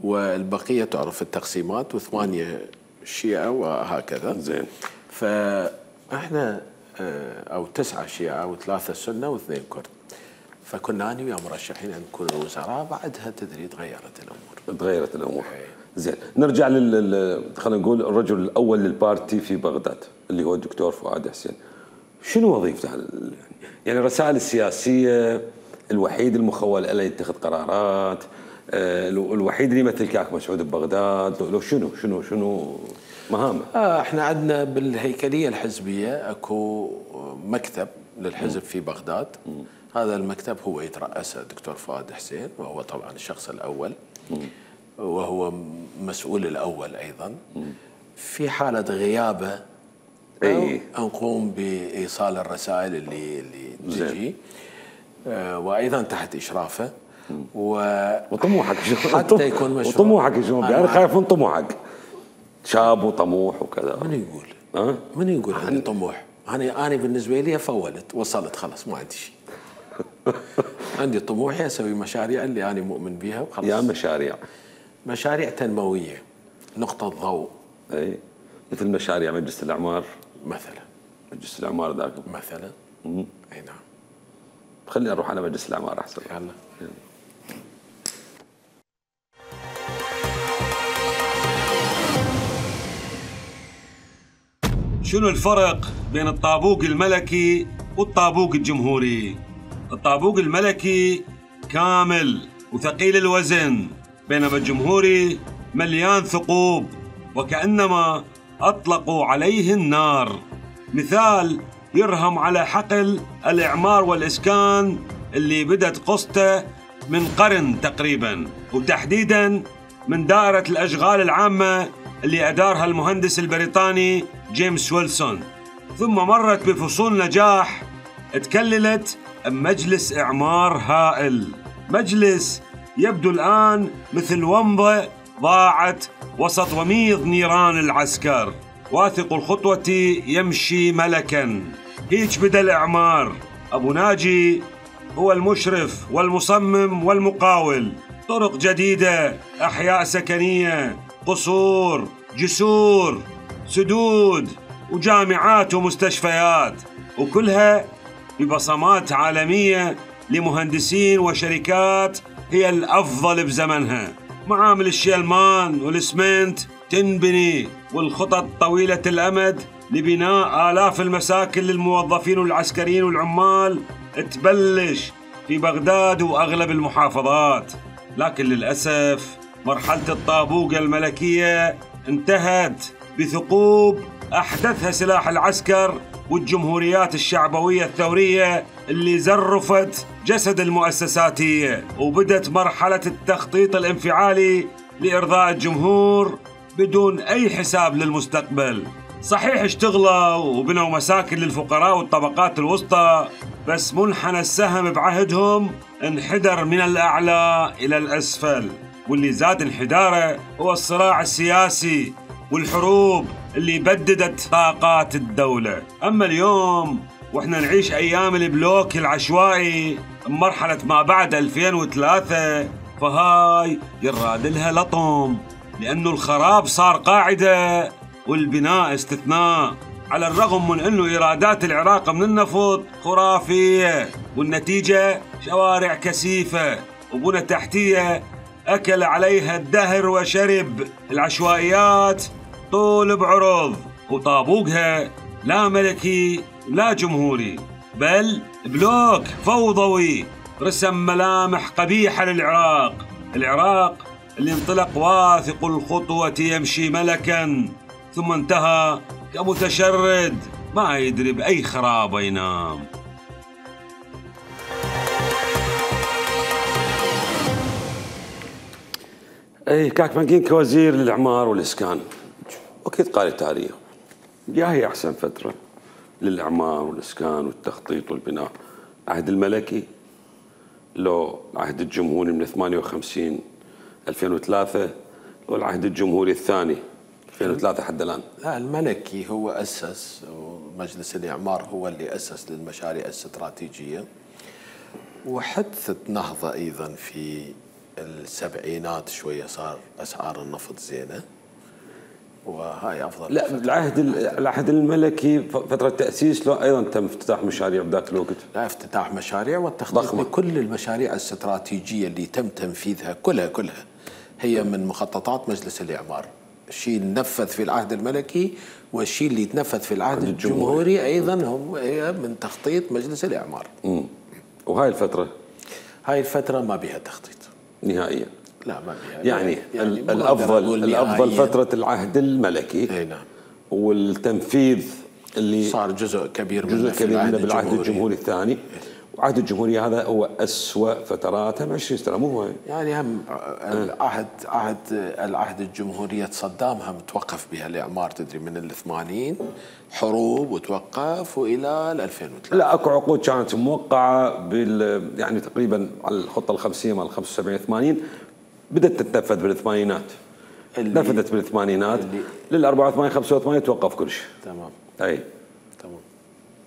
والبقية تعرف التقسيمات، وثمانية شيعة وهكذا. زين. فإحنا أو تسعة شيعة وثلاثة سنة واثنين كرد. فكنا أنا ويا مرشحين أن نكون وزراء، بعدها تدري تغيرت الأمور. تغيرت الأمور. زين نرجع لل خلينا نقول الرجل الأول للبارتي في بغداد اللي هو الدكتور فؤاد حسين. شنو وظيفته؟ يعني الرسائل السياسية، الوحيد المخول له يتخذ قرارات، الوحيد اللي يمثل كاك مسعود ببغداد، لو شنو شنو شنو مهامه؟ آه احنا عندنا بالهيكلية الحزبية اكو مكتب للحزب في بغداد. م. هذا المكتب هو يترأسه الدكتور فؤاد حسين، وهو طبعا الشخص الأول وهو مسؤول الأول أيضا. في حالة غيابه أي. نقوم بإيصال الرسائل اللي اللي تجي، آه وأيضا تحت إشرافه. و... وطموحك حتى يكون مشروع. وطموحك شو؟ أنا خايف من طموحك. شاب وطموح وكذا. من يقول؟ أه؟ من يقول عندي طموح؟ أنا أنا بالنسبة لي فولت وصلت خلاص ما عندي شيء. عندي طموحي اسوي مشاريع اللي انا مؤمن بها وخلاص. يا مشاريع مشاريع تنمويه نقطه ضوء. اي مثل مشاريع مجلس الاعمار مثلا. مجلس الاعمار ذاك مثلا. امم اي نعم. خليني اروح على مجلس الاعمار احسن. يلا. شنو الفرق بين الطابوق الملكي والطابوق الجمهوري؟ الطابوق الملكي كامل وثقيل الوزن، بينما الجمهوري مليان ثقوب وكأنما أطلقوا عليه النار. مثال يرهم على حقل الإعمار والإسكان اللي بدت قصته من قرن تقريبا، وتحديدا من دائرة الأشغال العامة اللي أدارها المهندس البريطاني جيمس ويلسون، ثم مرت بفصول نجاح تكللت مجلس إعمار هائل، مجلس يبدو الآن مثل ومضة ضاعت وسط وميض نيران العسكر. واثق الخطوة يمشي ملكا، هيج بدأ الإعمار. أبو ناجي هو المشرف والمصمم والمقاول، طرق جديدة، أحياء سكنية، قصور، جسور، سدود، وجامعات ومستشفيات، وكلها ببصمات عالمية لمهندسين وشركات هي الأفضل بزمنها. معامل الشيلمان والإسمنت تنبني، والخطط طويلة الأمد لبناء آلاف المساكن للموظفين والعسكريين والعمال تبلش في بغداد وأغلب المحافظات. لكن للأسف مرحلة الطابوق الملكية انتهت بثقوب أحدثها سلاح العسكر والجمهوريات الشعبوية الثورية اللي زرفت جسد المؤسساتية، وبدت مرحلة التخطيط الانفعالي لإرضاء الجمهور بدون أي حساب للمستقبل. صحيح اشتغلوا وبنوا مساكن للفقراء والطبقات الوسطى، بس منحنى السهم بعهدهم انحدر من الأعلى إلى الأسفل، واللي زاد انحداره هو الصراع السياسي والحروب اللي بددت طاقات الدولة. أما اليوم وإحنا نعيش أيام البلوك العشوائي مرحلة ما بعد ألفين وثلاثة، فهاي يراد لها لطم، لأنه الخراب صار قاعدة والبناء استثناء، على الرغم من أنه إيرادات العراق من النفط خرافية، والنتيجة شوارع كثيفة وبنى تحتية أكل عليها الدهر وشرب. العشوائيات طول بعرض، وطابوقها لا ملكي لا جمهوري، بل بلوك فوضوي رسم ملامح قبيحة للعراق. العراق اللي انطلق واثق الخطوة يمشي ملكا، ثم انتهى كمتشرد ما يدري بأي خرابة ينام. اي كاكمانجين كوزير للإعمار والإسكان، أكيد قال التاريخ يا هي أحسن فترة للإعمار والإسكان والتخطيط والبناء، عهد الملكي لو العهد الجمهوري من ثمانية وخمسين ألفين وثلاثة، لو العهد الجمهوري الثاني ألفين وثلاثة حتى الآن؟ لا، الملكي هو أسس، ومجلس الإعمار هو اللي أسس للمشاريع الاستراتيجية، وحدثت نهضة أيضا في السبعينات شوية، صار أسعار النفط زينة، وهاي أفضل. لا، العهد العهد الملكي فترة تأسيس له أيضا تم افتتاح مشاريع بذاك الوقت. لا، افتتاح مشاريع والتخطيط لكل المشاريع الاستراتيجية اللي تم تنفيذها كلها كلها هي من مخططات مجلس الإعمار. الشيء اللي نفذ في العهد الملكي والشيء اللي تنفذ في العهد الجمهوري, الجمهوري أيضا هم هي من تخطيط مجلس الإعمار. امم وهاي الفترة هاي الفترة ما بها تخطيط نهائيا. لا ما بها يعني, يعني الأفضل الأفضل فترة العهد الملكي. اي نعم. والتنفيذ اللي صار جزء كبير جزء منه كبير منه بالعهد الجمهوري, الجمهوري الثاني. وعهد الجمهوري هذا هو أسوأ فتراتها ب عشرين سنة، مو هو يعني هم العهد عهد العهد الجمهورية صدام هم توقف بها الإعمار، تدري من الثمانين حروب وتوقف وإلى ألفين وثلاثة. لا، اكو عقود كانت موقعة بال يعني تقريبا على الخطة الخمسية مال خمسة وسبعين ثمانين، بدأت تتنفذ بالثمانينات، نفذت بالثمانينات لل أربعة وثمانين خمسة وثمانين توقف كل شيء. تمام. اي تمام.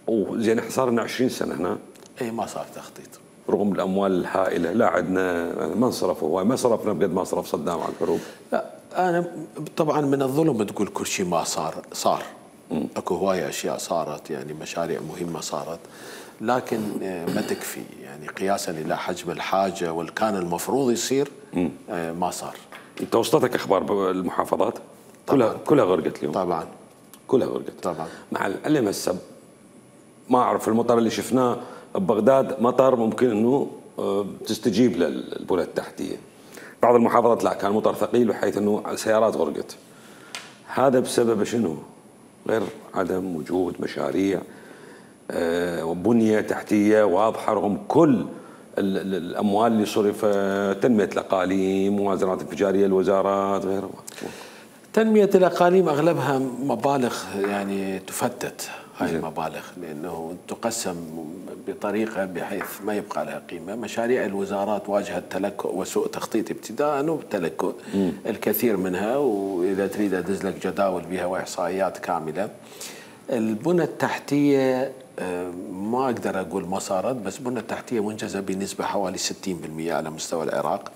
وزين احنا صار لنا عشرين سنة هنا اي ما صار تخطيط رغم الاموال الهائله. لا عندنا ما انصرفوا هواي، ما صرفنا بقد ما صرف صدام على الحروب. لا انا طبعا من الظلم تقول كل شيء ما صار صار م. اكو هواي اشياء صارت، يعني مشاريع مهمه صارت، لكن ما تكفي يعني قياسا الى حجم الحاجه واللي كان المفروض يصير م. ما صار. انت وصلتك اخبار المحافظات؟ كلها كلها غرقت اليوم. طبعا كلها غرقت طبعا. مع العلم هسه ما اعرف المطر اللي شفناه ببغداد مطر ممكن انه تستجيب للبنى التحتيه. بعض المحافظات لا، كان مطر ثقيل بحيث انه سيارات غرقت. هذا بسبب شنو؟ غير عدم وجود مشاريع وبنيه تحتيه واضحه رغم كل الاموال اللي صرفت، تنميه الاقاليم، موازنات انفجاريه الوزارات، غيره. تنميه الاقاليم اغلبها مبالغ يعني تفتت، هاي المبالغ لانه تقسم بطريقه بحيث ما يبقى لها قيمه. مشاريع الوزارات واجهت تلكؤ وسوء تخطيط ابتداء وتلكؤ الكثير منها، واذا تريد ادز لك جداول بها واحصائيات كامله. البنى التحتيه ما اقدر اقول ما صارت، بس البنى التحتيه منجزه بنسبه حوالي ستين بالمئة على مستوى العراق،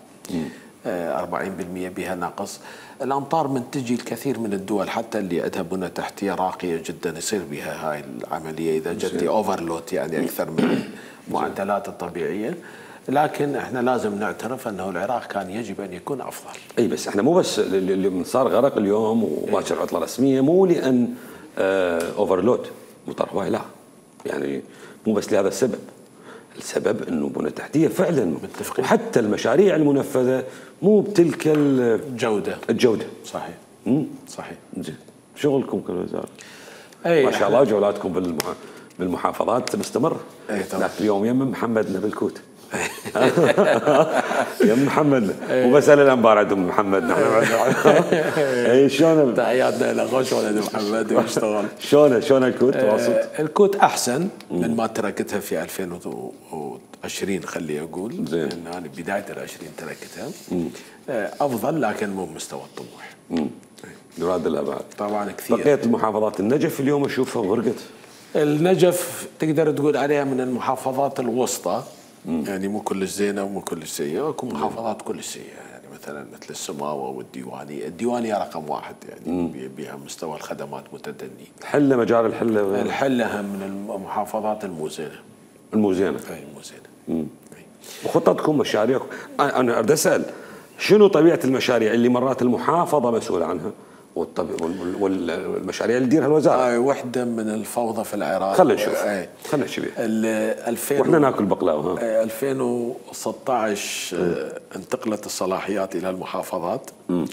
أربعين بالمئة بها نقص. الامطار من تجي الكثير من الدول حتى اللي عندها بنى تحتيه راقيه جدا يصير بها هاي العمليه اذا جت اوفرلود، يعني اكثر من المعدلات الطبيعيه. لكن احنا لازم نعترف انه العراق كان يجب ان يكون افضل. اي بس احنا مو بس اللي صار غرق اليوم وباكر عطله رسميه مو لان اوفرلود مطر هواي، لا، يعني مو بس لهذا السبب. السبب انه بنى تحتيه فعلا متفقين، وحتى المشاريع المنفذه مو بتلك الجوده الجوده صحيح. امم صحيح. زين، شغلكم كالوزاره ما شاء الله، جولاتكم بالمحافظات مستمره. ذاك اليوم يم محمدنا بالكوت يم محمدنا، وبسال الانبار عندهم محمد نحن. اي شلون تحياتنا له، غوش ولد محمد ويشتغل. شلون شلون الكوت واصل؟ الكوت احسن من ما تركتها في ألفين وعشرين خلي اقول، زين، انا بدايه العشرين تركتها. افضل لكن مو بمستوى الطموح. امم يراد الابعاد طبعا كثير. بقيه المحافظات، النجف اليوم اشوفها غرقت. النجف تقدر تقول عليها من المحافظات الوسطى، يعني مو كلش زينه ومو كلش سيئه، اكو محافظات كلش سيئه، يعني مثلا مثل السماوه والديوانيه. الديوانيه رقم واحد يعني بها مستوى الخدمات متدني. الحله مجال الحله الحله من المحافظات الموزينه. الموزينه اي الموزينه. وخططكم مشاريعكم، انا اريد اسال شنو طبيعه المشاريع اللي مرات المحافظه مسؤوله عنها والمشاريع اللي تديرها الوزاره؟ هاي وحده من الفوضى في العراق. خلينا نشوف خلينا نحكي بها واحنا ناكل بقلاوه. ها ألفين وستة عشر انتقلت الصلاحيات الى المحافظات، م.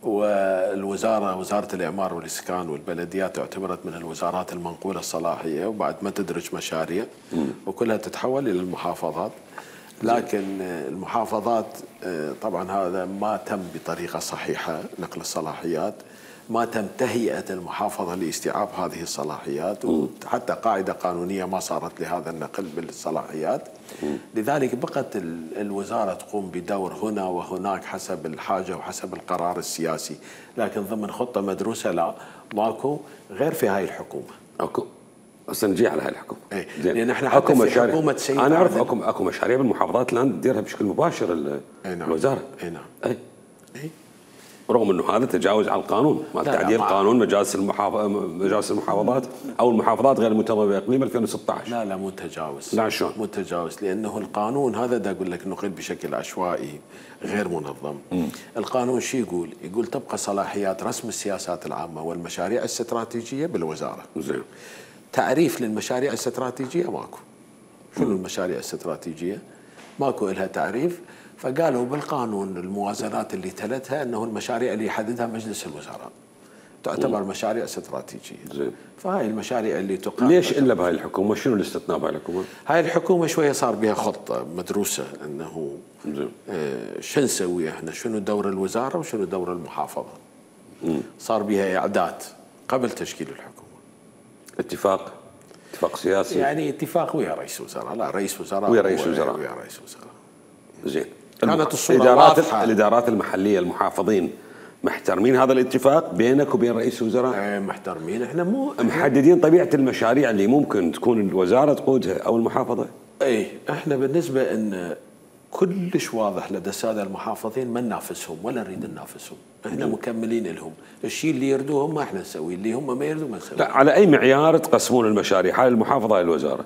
والوزاره وزاره الاعمار والاسكان والبلديات اعتبرت من الوزارات المنقوله الصلاحيه، وبعد ما تدرج مشاريع م. وكلها تتحول الى المحافظات. لكن المحافظات طبعا هذا ما تم بطريقه صحيحه، نقل الصلاحيات ما تم تهيئه المحافظه لاستيعاب هذه الصلاحيات، وحتى قاعده قانونيه ما صارت لهذا النقل بالصلاحيات. لذلك بقت الوزاره تقوم بدور هنا وهناك حسب الحاجه وحسب القرار السياسي، لكن ضمن خطه مدروسه لا، ماكو غير في هاي الحكومه. اكو هسه نجي على هاي الحكومه. اي لان احنا حتى في حكومه سيد انا اعرف اكو اكو مشاريع بالمحافظات الان تديرها بشكل مباشر الوزاره. اي نعم. اي اي رغم انه هذا تجاوز على القانون مال تعديل قانون مجالس المحافظ مجالس المحافظات او المحافظات غير المنتظمه باقليم ألفين وستة عشر. لا لا مو تجاوز. لا شلون؟ مو تجاوز، لانه القانون هذا دا اقول لك نقل بشكل عشوائي غير منظم. م. القانون شو يقول؟ يقول تبقى صلاحيات رسم السياسات العامه والمشاريع الاستراتيجيه بالوزاره. زين. تعريف للمشاريع الاستراتيجيه ماكو. شنو المشاريع الاستراتيجيه؟ ماكو لها تعريف، فقالوا بالقانون الموازنات اللي تلتها انه المشاريع اللي يحددها مجلس الوزراء تعتبر مشاريع استراتيجيه. زين. فهاي المشاريع اللي تقام. ليش الا بهاي الحكومه؟ شنو الاستثناء بهاي الحكومه؟ هاي الحكومه شويه صار بها خطه مدروسه انه زين. آه شو نسوي احنا؟ شنو دور الوزاره وشنو دور المحافظه؟ مم. صار بها اعداد قبل تشكيل الحكومه. اتفاق اتفاق سياسي، يعني اتفاق ويا رئيس وزراء، لا رئيس وزراء ويا رئيس وزراء ويا رئيس وزراء. زين. كانت الصورة الادارات واضحة. الادارات المحليه المحافظين محترمين هذا الاتفاق بينك وبين رئيس الوزراء؟ ايه محترمين، احنا مو محددين طبيعه المشاريع اللي ممكن تكون الوزاره تقودها او المحافظه؟ ايه احنا بالنسبه ان كلش واضح لدى الساده المحافظين ما ننافسهم ولا نريد ننافسهم، احنا مكملين لهم، الشيء اللي يردوه هم احنا نسويه، اللي هم ما يردوا ما نسويه. لا، على اي معيار تقسمون المشاريع؟ هاي المحافظه هاي الوزاره؟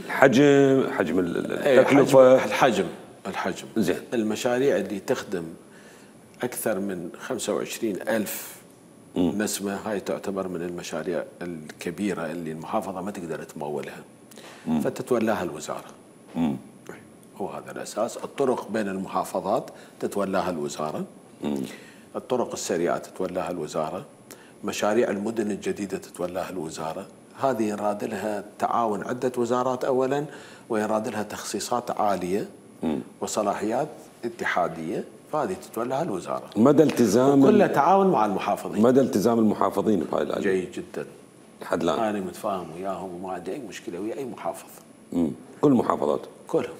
الحجم، حجم التكلفه، الحجم الحجم زين. المشاريع اللي تخدم اكثر من خمسة وعشرين ألف نسمه هاي تعتبر من المشاريع الكبيره اللي المحافظه ما تقدر تمولها. فتتولاها الوزاره. مم. هو هذا الاساس. الطرق بين المحافظات تتولاها الوزاره. مم. الطرق السريعه تتولاها الوزاره. مشاريع المدن الجديده تتولاها الوزاره. هذه يراد لها تعاون عده وزارات اولا، ويراد لها تخصيصات عاليه مم. وصلاحيات اتحاديه، فهذه تتولاها الوزاره. مدى التزام كلها تعاون مع المحافظين. مدى التزام المحافظين بهاي الآلية جيد جدا. لحد الآن انا متفاهم وياهم وما عندي اي مشكله ويا اي محافظ. مم. كل المحافظات. كلهم.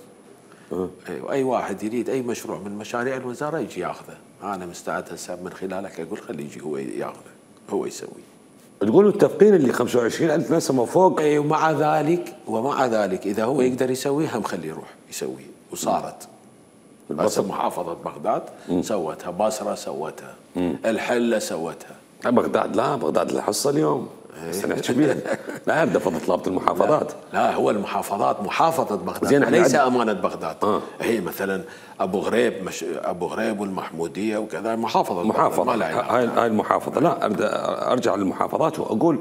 أه. أيوة. اي واحد يريد اي مشروع من مشاريع الوزاره يجي ياخذه. انا مستعد هسه من خلالك اقول خليه يجي هو ياخذه، هو يسوي. تقولوا التفقين اللي خمسة وعشرين ألف نسمة وفوق. اي ومع ذلك ومع ذلك اذا هو يقدر يسويها مخليه يروح يسويه، وصارت. بس محافظه بغداد مم. سوتها، بصره سوتها، مم. الحله سوتها. بغداد لا، بغداد الحصه اليوم بس نحكي بيها. لا ارد فضل طلبة المحافظات. لا, لا هو المحافظات، محافظه بغداد زين ليس امانه بغداد. آه. هي مثلا ابو غريب مش ابو غريب والمحموديه وكذا محافظه محافظه. ما هاي هاي المحافظه. لا ارد ارجع للمحافظات واقول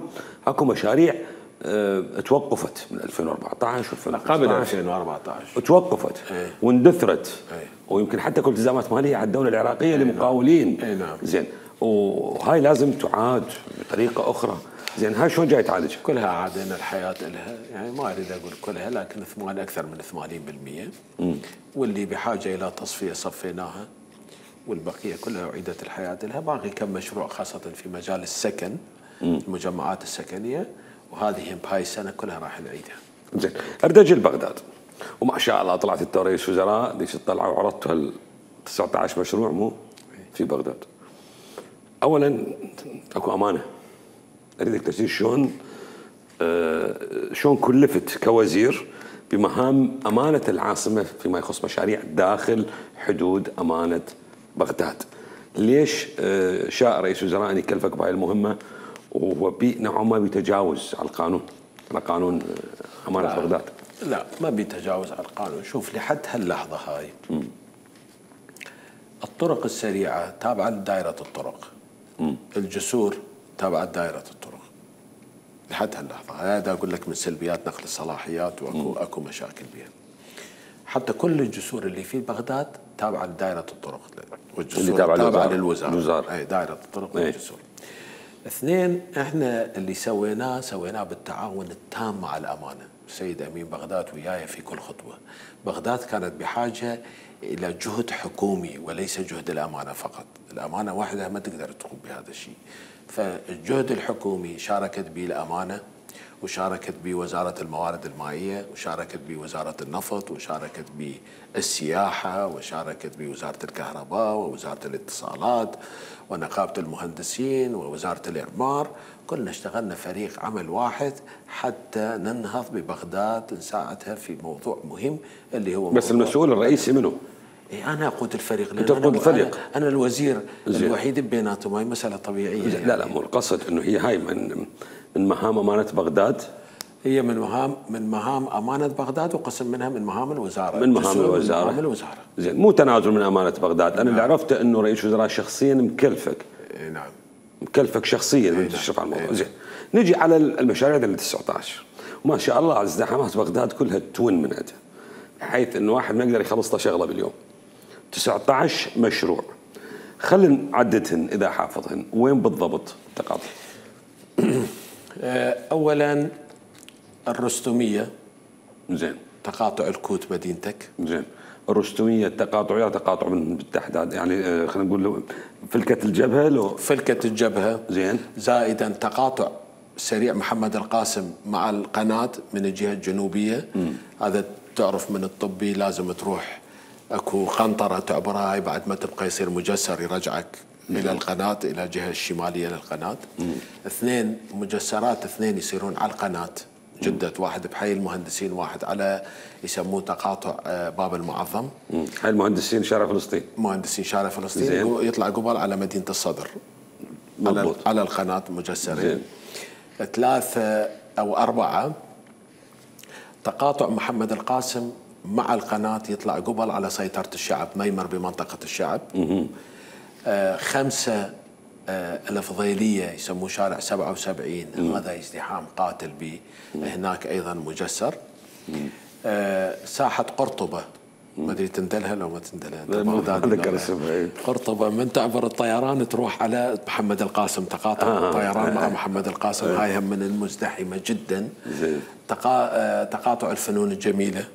اكو مشاريع اه توقفت من ألفين وأربعة عشر قبل ألفين وأربعة عشر توقفت ايه. واندثرت ايه. ويمكن حتى كل التزامات ماليه على الدوله العراقيه لمقاولين. ايه نعم. زين وهاي لازم تعاد بطريقه اخرى. زين هاي شلون جاي تعالج؟ كلها عادنا الحياه لها، يعني ما اريد اقول كلها لكن ثمان اكثر من ثمانين بالمئة. مم. واللي بحاجه الى تصفيه صفيناها، والبقيه كلها اعيدت الحياه لها. باقي كم مشروع خاصه في مجال السكن، مم. المجمعات السكنيه، وهذه بهاي السنه كلها راح نعيدها. زين اريد اجي لبغداد، وما شاء الله طلعت انت رئيس وزراء ديش تطلع وعرضت هال تسعة عشر مشروع مو في بغداد. اولا اكو امانه، اريدك تشير شلون آه شلون كلفت كوزير بمهام امانه العاصمه فيما يخص مشاريع داخل حدود امانه بغداد. ليش آه شاء رئيس وزراء ان يكلفك بهاي المهمه وهو نوعا ما بيتجاوز على القانون، على قانون امانه لا بغداد؟ لا ما بيتجاوز على القانون. شوف لحد هاللحظه هاي م. الطرق السريعه تابعه لدائره الطرق. م. الجسور تابعه لدائره الطرق. لحد هاللحظه هذا اقول لك من سلبيات نقل الصلاحيات، واكو م. اكو مشاكل بها. حتى كل الجسور اللي في بغداد تابعه لدائره الطرق، والجسور تابعه تابع للوزاره. اي دائره الطرق والجسور. اثنين، احنا اللي سويناه سويناه بالتعاون التام مع الامانه. السيد امين بغداد وياي في كل خطوه. بغداد كانت بحاجه الى جهد حكومي وليس جهد الامانه فقط. الامانه وحدها ما تقدر تقوم بهذا الشيء. فالجهد الحكومي شاركت به الامانه، وشاركت به وزاره الموارد المائيه، وشاركت به وزاره النفط، وشاركت به السياحه، وشاركت به وزاره الكهرباء، ووزاره الاتصالات، ونقابه المهندسين، ووزاره الاعمار. كلنا اشتغلنا فريق عمل واحد حتى ننهض ببغداد، نساعدها في موضوع مهم اللي هو بس المسؤول الرئيسي منه؟ إيه أنا أقود الفريق. أنت تقود الفريق؟ أنا, أنا الوزير زي. الوحيد بيناتهم. هاي مسألة طبيعية يعني. لا لا مو القصد إنه هي هاي من من مهام أمانة بغداد. هي من مهام من مهام أمانة بغداد، وقسم منها من مهام الوزارة. من مهام الوزارة. من مهام الوزارة. زين مو تنازل من أمانة بغداد. أنا نعم. اللي عرفته إنه رئيس وزراء شخصيا مكلفك. إيه نعم. مكلفك شخصيا من تشرف على الموضوع. زين نجي على المشاريع اللي تسعة عشر، وما شاء الله ازدحامات بغداد كلها تون من عندها، بحيث انه واحد ما يقدر يخلص له شغله باليوم. تسعة عشر مشروع، خلينا نعددهن اذا حافظهن، وين بالضبط تقاطع؟ اولا الرستميه. زين. تقاطع الكوت مدينتك. زين. الرستميه تقاطع تقاطع من بالتحداد، يعني خلينا نقول فلكه الجبهه لو فلكه الجبهه. زين. زائدا تقاطع سريع محمد القاسم مع القناه من الجهه الجنوبيه. م. هذا تعرف من الطبي لازم تروح اكو قنطره تعبرها، هاي بعد ما تبقى يصير مجسر يرجعك م. الى القناه، الى الجهه الشماليه للقناه. م. اثنين مجسرات اثنين يصيرون على القناه جدة، واحد بحي المهندسين، واحد على يسموه تقاطع باب المعظم. حي المهندسين شارع فلسطين. مهندسين شارع فلسطين. زين. يطلع قبل على مدينة الصدر. على على القناة مجسرين. ثلاثة أو أربعة تقاطع محمد القاسم مع القناة، يطلع قبل على سيطرة الشعب، ميمر بمنطقة الشعب. آه خمسة الفضيليه يسموه شارع سبعة وسبعين، هذا ازدحام قاتل به. هناك ايضا مجسر. آه ساحه قرطبه، ما ادري تندلها لو ما تندلها. قرطبه من تعبر الطيران تروح على محمد القاسم، تقاطع آه الطيران مع محمد القاسم، آه هاي هم من المزدحمه جدا. تقا... آه تقاطع الفنون الجميله،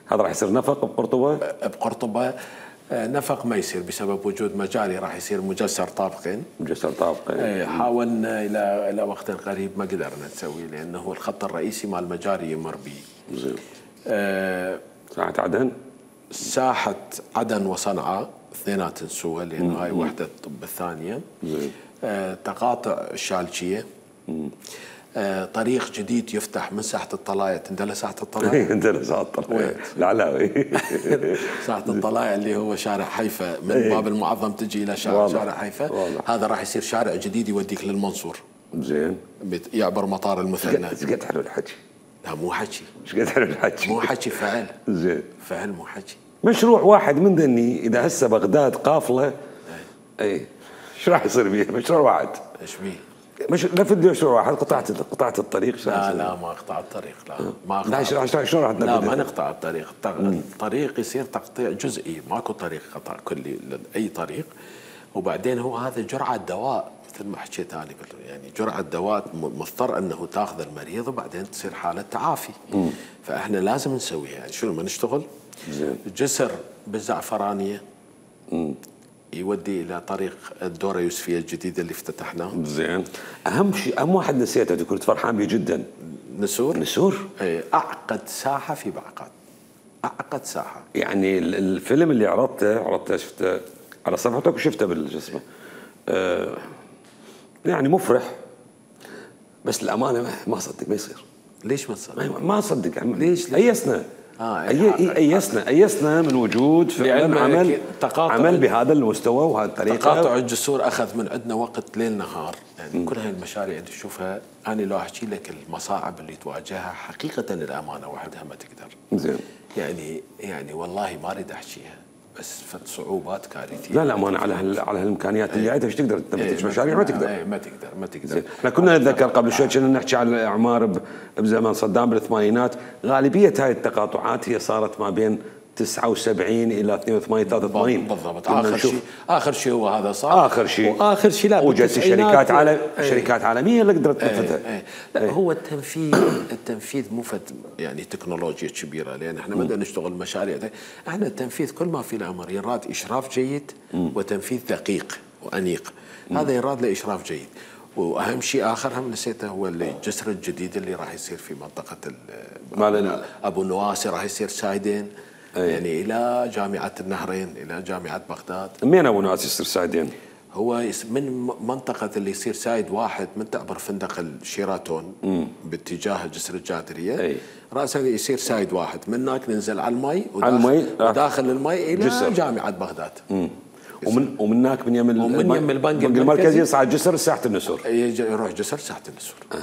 هذا راح يصير نفق بقرطبه؟ بقرطبه نفق ما يصير بسبب وجود مجاري، راح يصير مجسر طابقين. مجسر طابقين. حاولنا الى الى وقت قريب ما قدرنا نسوي، لانه الخط الرئيسي مال المجاري يمر به. زين. آه ساحة عدن؟ ساحة عدن وصنعاء اثنيناتن سوا، لانه هاي وحدة طب الثانية. زين. آه تقاطع الشالشية. آه طريق جديد يفتح من ساحة الطلاية، تندلى ساحة الطلاية؟ تندلى ساحة الطلاية العلاوي. ساحة الطلاية اللي هو شارع حيفا، من باب المعظم تجي إلى شارع, شارع حيفا. هذا راح يصير شارع جديد يوديك للمنصور. زين. يعبر مطار المثنى. ايش قد حلو الحكي؟ لا مو حكي. ايش قد حلو الحكي؟ مو حكي، فعل. زين. فعل مو حكي. مشروع واحد من ذني اذا هسه بغداد قافلة، اي ايش راح يصير بيه؟ مشروع واحد. ايش بيه؟ مش نفذ مشروع واحد، قطعت قطعت الطريق. لا لا ما قطع الطريق، لا ما قطع. لا شلون راح لا ما نقطع الطريق، الطريق يصير تقطيع جزئي، ماكو طريق قطع كلي لاي طريق. وبعدين هو هذا جرعه دواء مثل ما حكيت انا، يعني جرعه دواء مضطر انه تاخذ المريض وبعدين تصير حاله تعافي. مم. فاحنا لازم نسويها، يعني شنو ما نشتغل. زين. جسر بالزعفرانيه. امم يودي الى طريق الدوره يوسفيه الجديده اللي افتتحناه. زين. اهم شيء، اهم واحد نسيته كنت فرحان به جدا، نسور. نسور اي اعقد ساحه في بعقد، اعقد ساحه. يعني الفيلم اللي عرضته عرضته شفته على صفحتك وشفته بالجسمه، آه يعني مفرح، بس الامانه ما اصدق ما يصير. ليش ما تصدق؟ ما اصدق. ليش؟ ايسنا. آه ايسنا ايسنا من وجود فعلا عمل عمل بهذا المستوى وهذه الطريقه. تقاطع الجسور اخذ من عندنا وقت ليل نهار، يعني م. كل هاي المشاريع اللي تشوفها انا لو احكي لك المصاعب اللي تواجهها حقيقه الامانه وحدها ما تقدر. زين. يعني يعني والله ما اريد احكيها، بس صعوبات كارثيه. لا لا ما انا على هال على هالامكانيات اللي عندها ايش تقدر تنفذ مشاريع؟ ما تقدر. اي ما تقدر ما تقدر. احنا كنا نتذكر قبل شوي كنا نحكي عن الاعمار بزمن صدام بالثمانينات، غالبيه هاي التقاطعات هي صارت ما بين تسعة وسبعين الى اثنين وثمانين ثلاثة وثمانين بالضبط. اخر شيء اخر شيء هو هذا صار. اخر شيء واخر شيء لا وجدت شركات عالم شركات عالميه اللي قدرت تنفذها. ايه ايه. لا ايه. هو التنفيذ التنفيذ مو يعني تكنولوجيا كبيره، لان احنا ما بدنا نشتغل مشاريع. احنا التنفيذ كل ما في الامر يراد اشراف جيد م. وتنفيذ دقيق وانيق. م. هذا يراد له اشراف جيد. واهم شيء اخر هم نسيته، هو اللي الجسر الجديد اللي راح يصير في منطقه ابو نواسي، راح يصير سايدين. أيه. يعني الى جامعه النهرين، الى جامعه بغداد. منين ابو نواسي يصير سايدين؟ هو من منطقه اللي يصير سايد واحد من تعبر فندق الشيراتون مم. باتجاه جسر الجادريه. أيه. راسا يصير سايد واحد، من هناك ننزل على المي وداخل, المي. وداخل المي الى جسر. جامعه بغداد. مم. ومن ومن هناك من يم ومن يم البنك المركزي يصعد جسر ساحه النسور. يروح جسر ساحه النسور. أه.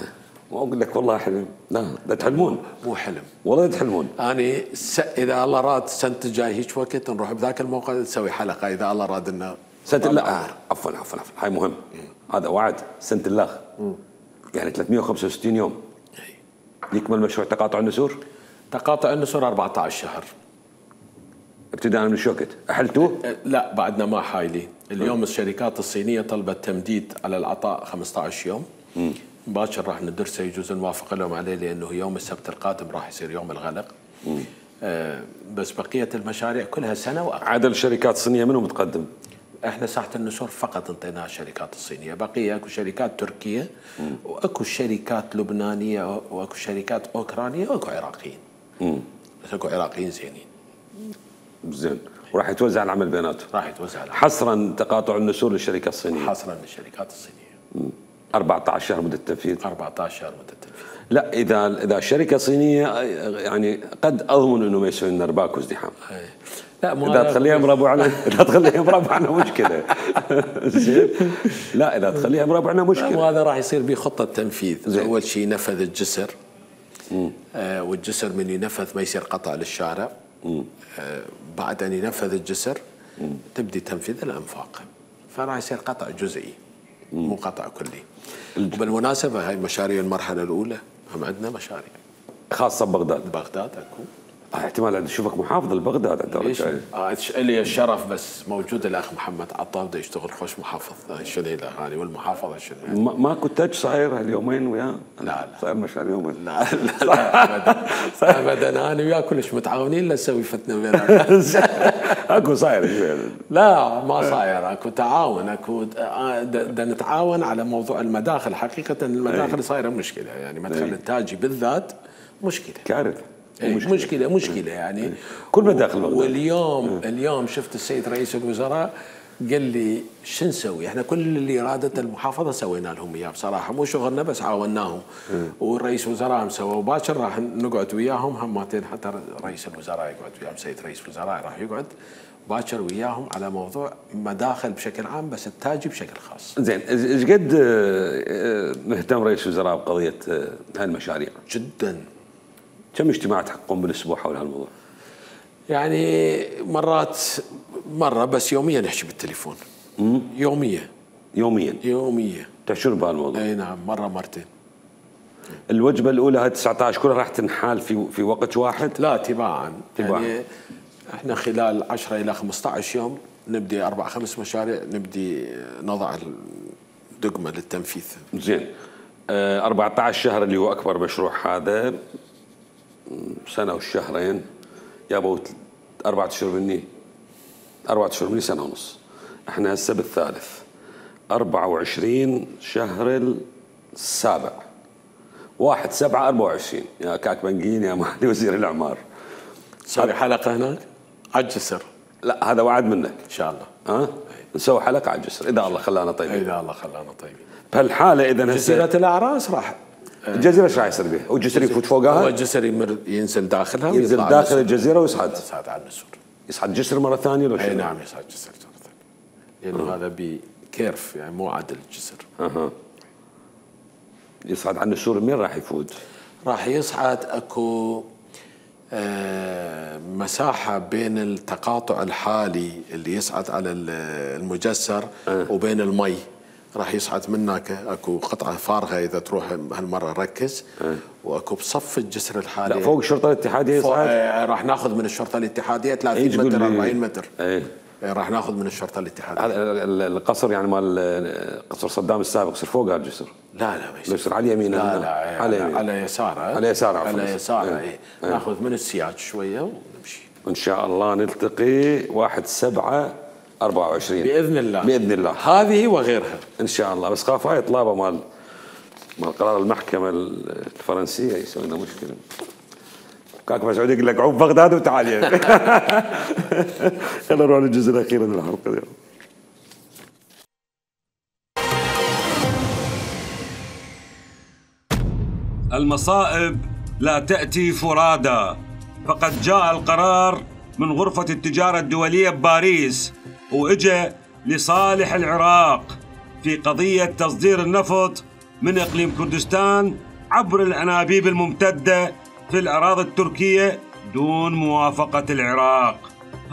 واقول لك والله حلم. لا لا تحلمون. مو حلم والله تحلمون. انا س... اذا الله راد السنه الجاي هيك وقت نروح بذاك الموقع نسوي حلقه، اذا الله راد لنا سنه لا آه. عفوا عفوا عفوا هاي مهم. مم. هذا وعد سنه الله. مم. يعني ثلاثمئة وخمسة وستين يوم. أي. يكمل مشروع تقاطع النسور؟ تقاطع النسور أربعة عشر شهر ابتداء من شو وقت؟ احلتوه؟ لا بعدنا ما حايلين. اليوم الشركات الصينيه طلبت تمديد على العطاء خمسة عشر يوم. مم. باكر راح ندرسه، يجوز نوافق لهم عليه، لانه يوم السبت القادم راح يصير يوم الغلق. آه بس بقيه المشاريع كلها سنه واقل. عدد الشركات الصينيه منو متقدم؟ احنا ساحه النسور فقط انطيناها الشركات الصينيه، بقيه اكو شركات تركيه مم. واكو شركات لبنانيه واكو شركات اوكرانيه واكو عراقيين. امم بس اكو عراقيين زينين. زين. وراح يتوزع العمل بيناتهم؟ راح يتوزع العمل. حصرا تقاطع النسور للشركات الصينيه؟ حصرا للشركات الصينيه. مم. أربعة عشر شهر مدة التنفيذ. أربعة عشر شهر مدة التنفيذ. لا اذا اذا الشركه صينيه يعني قد اضمن انه ما يسوي لنا ارباك وازدحام. لا اذا تخليها مربعنا اذا تخليها مربعنا مشكله. زين. لا اذا تخليها مربعنا مشكله. وهذا راح يصير به خطه تنفيذ. اول شيء نفذ الجسر. آه والجسر من ينفذ ما يصير قطع للشارع. آه بعد ان ينفذ الجسر مم. تبدي تنفيذ الانفاق، فراح يصير قطع جزئي. مو قطع كلي. وبالمناسبة هاي مشاريع المرحلة الأولى هم عندنا مشاريع خاصة ببغداد. بغداد اكو احتمال عند اشوفك محافظ لبغداد الدورة الجاية. آه لي الشرف بس موجود الاخ محمد عطار بده يشتغل خوش محافظ شنيله هذه والمحافظة شنيله. ما ماكو تاج صاير هاليومين وياه؟ لا لا صاير مشاريع يومين. لا لا لا ابدا ابدا انا وياه كلش متعاونين لنسوي فتنة بيننا. اكو صاير؟ لا ما صاير اكو تعاون اكو بدنا نتعاون على موضوع المداخل. حقيقة المداخل صايرة مشكلة يعني مدخل التاجي بالذات مشكلة كارثة. مشكلة مشكلة, مشكلة يعني كل مداخل بغداد. واليوم م. اليوم شفت السيد رئيس الوزراء قال لي شو نسوي؟ احنا كل اللي ارادته المحافظة سوينا لهم اياه بصراحة مو شغلنا بس عاوناهم. م. والرئيس الوزراء مسوى وباكر راح نقعد وياهم همتين حتى رئيس الوزراء يقعد وياهم سيد رئيس الوزراء راح يقعد باكر وياهم على موضوع مداخل بشكل عام بس التاجي بشكل خاص. زين ايش قد مهتم رئيس الوزراء بقضية هالمشاريع؟ جدا. كم اجتماع تحققون بالاسبوع حول هالموضوع؟ يعني مرات مره بس يوميا نحكي بالتليفون. امم يوميا يوميا يوميا تحشون بهالموضوع؟ اي نعم مره مرتين. الوجبه الاولى هاي تسعة عشر كلها راح تنحال في في وقت واحد؟ لا تباعا. تباعا يعني احنا خلال عشرة الى خمسة عشر يوم نبدي اربع خمس مشاريع نبدي نضع الدقمه للتنفيذ. زين أه أربعة عشر شهر اللي هو اكبر مشروع هذا سنة والشهرين يابوا أربعة أشهر مني أربعة أشهر مني سنة ونص. احنا هسه بالثالث أربعة وعشرين شهر السابع واحد سبعة أربعة وعشرين يا كاك بنقين يا معالي وزير الإعمار. نسوي حلقة هناك على الجسر. لا هذا وعد منك إن شاء الله. ها نسوي حلقة على الجسر إذا الله خلانا طيبين. إذا الله خلانا طيبين. بهالحالة إذا جزيرة الأعراس راح الجزيرة ايش راح يصير بها؟ والجسر يفوت فوقها؟ هو الجسر يمر ينزل داخلها ينزل داخل الجزيرة ويصعد يصعد على النسور. يصعد جسر مرة ثانية لو اي نعم يصعد جسر مرة ثانية لأنه هذا بكيرف يعني مو عدل الجسر. اها يصعد على النسور منين راح يفوت؟ راح يصعد اكو آه مساحة بين التقاطع الحالي اللي يصعد على المجسر أه. وبين المي راح يصعد من هناك اكو قطعه فارغه اذا تروح هالمره ركز أه. واكو بصف الجسر الحالي. لا فوق الشرطه الاتحاديه يصعد؟ آه راح ناخذ من الشرطه الاتحاديه ثلاثين متر أربعين متر. ايه راح ناخذ من الشرطه الاتحاديه. هذا القصر يعني مال قصر صدام السابق يصير فوق هالجسر؟ لا لا ما يصير على يمينه. لا لا على يمينه على يساره على يساره على يساره اي ايه. ناخذ من السياج شويه ونمشي. ان شاء الله نلتقي واحد سبعة أربعة وعشرين باذن الله. باذن الله هذه وغيرها ان شاء الله. بس خاف هاي طلابه مال مال قرار المحكمه الفرنسيه يسوي لنا مشكله. كاك مسعود يقول لك عوف بغداد وتعال يعني. خلينا نروح للجزء الاخير من الحلقه اليوم. المصائب لا تأتي فرادى، فقد جاء القرار من غرفة التجارة الدولية بباريس وإجا لصالح العراق في قضية تصدير النفط من إقليم كردستان عبر الأنابيب الممتدة في الأراضي التركية دون موافقة العراق.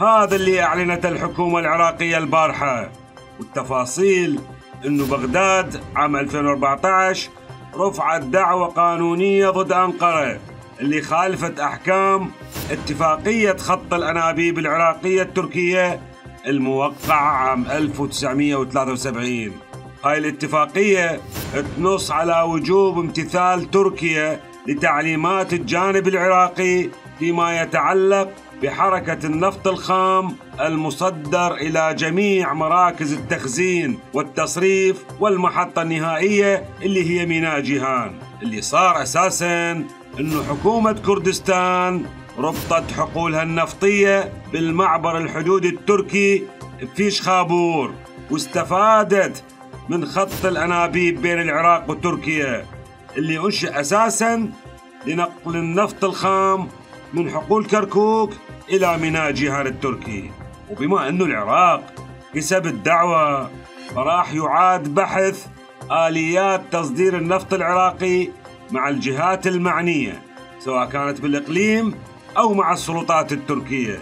هذا اللي أعلنته الحكومة العراقية البارحة. والتفاصيل إنه بغداد عام ألفين وأربعة عشر رفعت دعوى قانونية ضد أنقرة اللي خالفت أحكام اتفاقية خط الأنابيب العراقية التركية الموقعة عام ألف وتسعمئة وثلاثة وسبعين. هاي الاتفاقية تنص على وجوب امتثال تركيا لتعليمات الجانب العراقي فيما يتعلق بحركة النفط الخام المصدر إلى جميع مراكز التخزين والتصريف والمحطة النهائية اللي هي ميناء جيهان. اللي صار أساساً إنه حكومة كردستان ربطت حقولها النفطية بالمعبر الحدودي التركي بفيش خابور واستفادت من خط الأنابيب بين العراق وتركيا اللي أنشئ أساساً لنقل النفط الخام من حقول كركوك إلى ميناء جيهان التركي. وبما أنه العراق كسب الدعوة فراح يعاد بحث آليات تصدير النفط العراقي مع الجهات المعنية سواء كانت بالإقليم أو مع السلطات التركية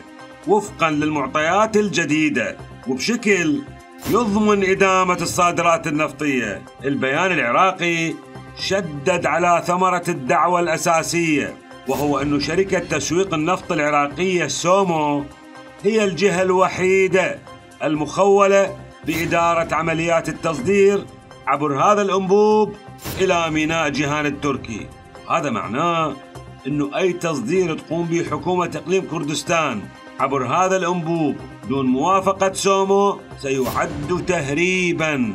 وفقاً للمعطيات الجديدة وبشكل يضمن إدامة الصادرات النفطية. البيان العراقي شدد على ثمرة الدعوة الأساسية، وهو أن شركة تسويق النفط العراقية سومو هي الجهة الوحيدة المخولة بإدارة عمليات التصدير عبر هذا الأنبوب إلى ميناء جيهان التركي. هذا معناه أنه أي تصدير تقوم به حكومة إقليم كردستان عبر هذا الأنبوب دون موافقة سومو سيعد تهريباً.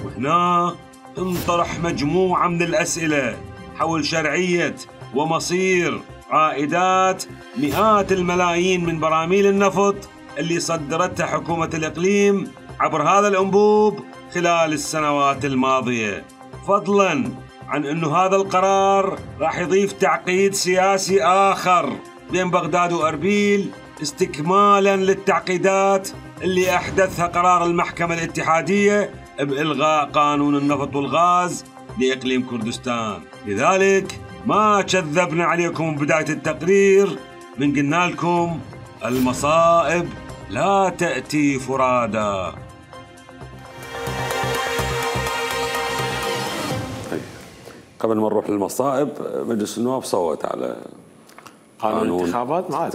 وهنا انطرح مجموعة من الأسئلة حول شرعية ومصير عائدات مئات الملايين من براميل النفط اللي صدرتها حكومة الإقليم عبر هذا الأنبوب خلال السنوات الماضية، فضلاً عن أنه هذا القرار راح يضيف تعقيد سياسي آخر بين بغداد وأربيل استكمالاً للتعقيدات اللي أحدثها قرار المحكمة الاتحادية بإلغاء قانون النفط والغاز لإقليم كردستان. لذلك ما كذبنا عليكم بداية التقرير من قلنا لكم المصائب لا تأتي فرادا. قبل ما نروح للمصائب، مجلس النواب صوت على قانون الانتخابات. ما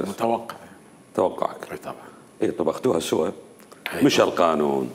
متوقع توقعك؟ اي طبعا. اي طبختوها سوا، مش القانون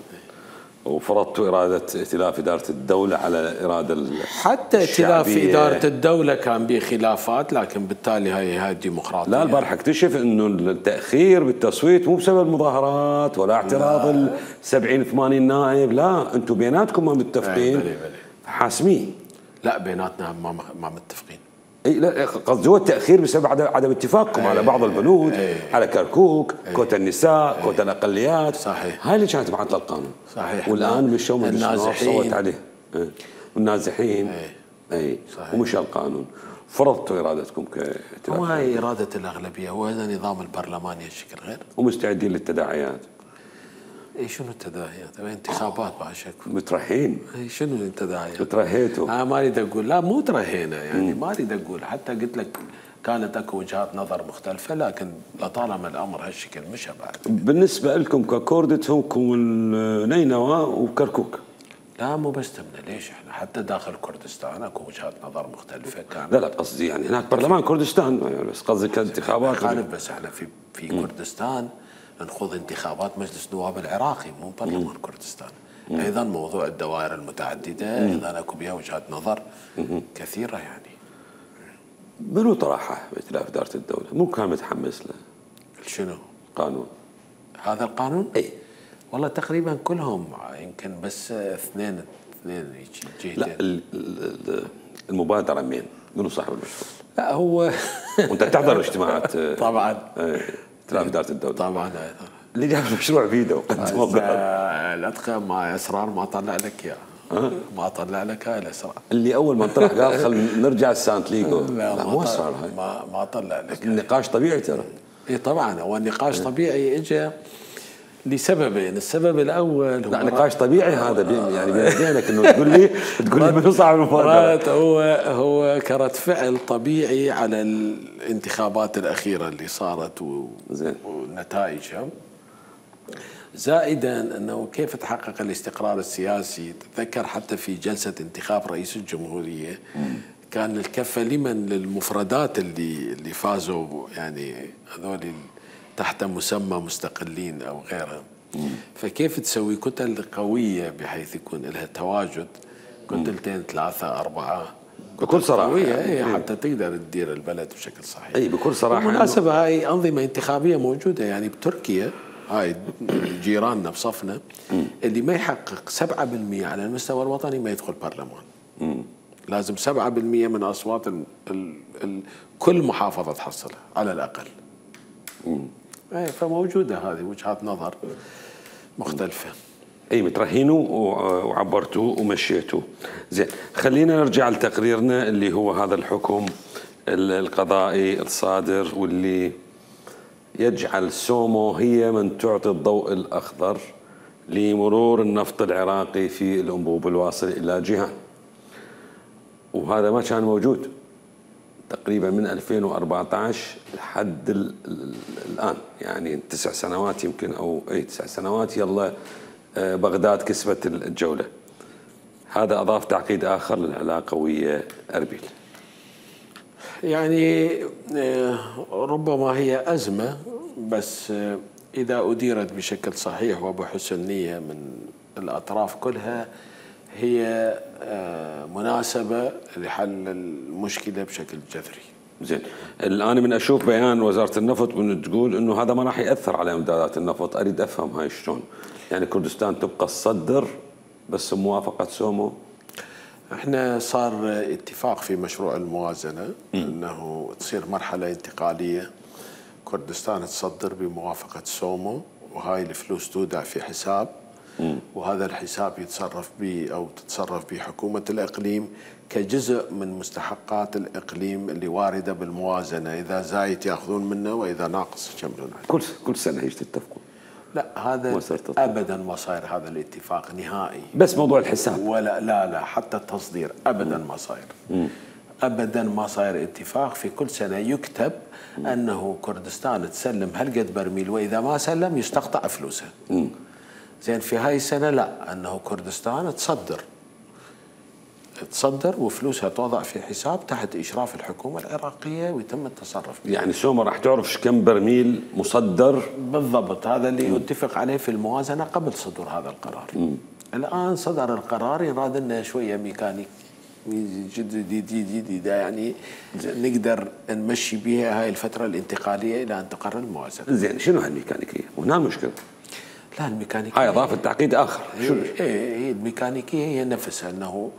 وفرضتوا إرادة ائتلاف إدارة الدولة على الإرادة حتى ائتلاف إدارة الدولة كان به خلافات، لكن بالتالي هاي هاي الديمقراطية. لا البارحة اكتشف إنه التأخير بالتصويت مو بسبب مظاهرات ولا اعتراض السبعين ثمانين نائب، لا أنتم بيناتكم ما متفقين حاسمين. لا بيناتنا ما ما متفقين. اي لا قصدي هو التاخير بسبب عدم اتفاقكم على بعض البنود، على كركوك، كوتا النساء، كوتا الاقليات. صحيح. هاي اللي كانت معطله القانون. صحيح. والان مشوا من النازحين صوت عليه والنازحين. اي, أي. ومشى القانون. فرضتوا ارادتكم كائتلاف. هو هاي اراده الاغلبيه، هو هذا نظام البرلماني الشكل غير. ومستعدين للتداعيات. اي شنو التداعيات؟ انتخابات بعد شك. مترحين. اي شنو التداعيات؟ ترهيتوا. انا ما اريد اقول، لا مو ترهينا يعني، ما اريد اقول، حتى قلت لك كانت اكو وجهات نظر مختلفه، لكن لطالما الامر هالشكل مشى بعد. بالنسبه لكم ككردتهم نينوى وكركوك. لا مو بس تمنا، ليش احنا حتى داخل كردستان اكو وجهات نظر مختلفه كانت. لا لا قصدي يعني هناك برلمان كردستان، بس قصدي كانتخابات. خالف، بس احنا في في م. كردستان نخوض انتخابات مجلس النواب العراقي مو برلمان كردستان. مم. ايضا موضوع الدوائر المتعدده مم. ايضا اكو بها وجهات نظر مم. كثيره يعني. منو طرحه بائتلاف اداره الدوله؟ مو كان متحمس له؟ شنو؟ قانون هذا القانون؟ اي والله تقريبا كلهم، يمكن بس اثنين اثنين جهتين. لا المبادره مين؟ منو صاحب المشروع؟ لا هو وانت تحضر اجتماعات طبعا ائتلاف اداره الدوله طبعا. اللي جاب المشروع بيده وقدمه. الاتقى مع اسرار ما طلع لك اياه. أه؟ ما طلع لك هاي الاسرار اللي اول ما انطرح قال خل نرجع السانت ليجو. لا, لا مو اسرار هاي. ما ما طلع لك. النقاش طبيعي ترى. اي طبعا هو النقاش طبيعي اجى لسببين. السبب الاول هو نقاش طبيعي هذا يعني بينك انه تقول لي تقول لي منو صاحب المفاجاه. هو هو كرد فعل طبيعي على الانتخابات الاخيره اللي صارت ونتائجها، زائدا انه كيف تحقق الاستقرار السياسي. تتذكر حتى في جلسه انتخاب رئيس الجمهوريه كان الكفه لمن للمفردات اللي اللي فازوا يعني هذول تحت مسمى مستقلين او غيرها. فكيف تسوي كتل قويه بحيث يكون لها تواجد كتلتين ثلاثه اربعه بكل صراحه يعني حتى تقدر تدير البلد بشكل صحيح. اي بكل صراحه. بالمناسبه هاي انظمه انتخابيه موجوده يعني بتركيا، هاي جيراننا بصفنا، اللي ما يحقق سبعة بالمئة على المستوى الوطني ما يدخل برلمان. مم. لازم سبعة بالمئة من اصوات ال ال ال كل محافظه تحصلها على الاقل. اي فموجوده هذه وجهات نظر مختلفه. اي مترهينوا وعبرتوا ومشيتوا. زين خلينا نرجع لتقريرنا اللي هو هذا الحكم القضائي الصادر واللي يجعل سومو هي من تعطي الضوء الأخضر لمرور النفط العراقي في الأنبوب الواصل إلى جيهان. وهذا ما كان موجود تقريبا من ألفين وأربعة عشر لحد الآن، يعني تسع سنوات يمكن أو أي تسع سنوات. يلا بغداد كسبت الجولة. هذا أضاف تعقيد آخر للعلاقة ويا أربيل. يعني ربما هي أزمة، بس إذا أديرت بشكل صحيح وبحسن نية من الأطراف كلها هي مناسبة لحل المشكلة بشكل جذري. زين، الآن من أشوف بيان وزارة النفط من تقول إنه هذا ما راح يأثر على إمدادات النفط. أريد أفهم هاي شلون؟ يعني كردستان تبقى تصدر بس بموافقة سومو؟ احنا صار اتفاق في مشروع الموازنة م. انه تصير مرحلة انتقالية، كردستان تصدر بموافقة سومو، وهاي الفلوس تودع في حساب م. وهذا الحساب يتصرف به او تتصرف به حكومة الإقليم كجزء من مستحقات الإقليم اللي واردة بالموازنة، إذا زايد يأخذون منه وإذا ناقص يكملون عليه. كل كل سنة هيك تتفقون؟ لا، هذا ابدا ما صاير هذا الاتفاق نهائي. بس موضوع الحساب؟ ولا لا لا حتى التصدير ابدا ما صاير. مم. ابدا ما صاير اتفاق. في كل سنه يكتب مم. انه كردستان تسلم هالقد برميل، واذا ما سلم يستقطع فلوسها. مم. زين، في هاي السنه لا، انه كردستان تصدر تصدر وفلوسها توضع في حساب تحت إشراف الحكومة العراقية ويتم التصرف بها. يعني سوما راح تعرف كم برميل مصدر بالضبط. هذا اللي يتفق عليه في الموازنة قبل صدور هذا القرار. م. الآن صدر القرار، يراد لنا شوية ميكانيك جديدة يعني نقدر نمشي بها هاي الفترة الانتقالية إلى أن تقرر الموازنة. زين، شنو هالميكانيكية؟ هنا المشكلة. لا، الميكانيكية هاي إضافة تعقيد آخر. شو هي الميكانيكية؟ هي نفسها أنه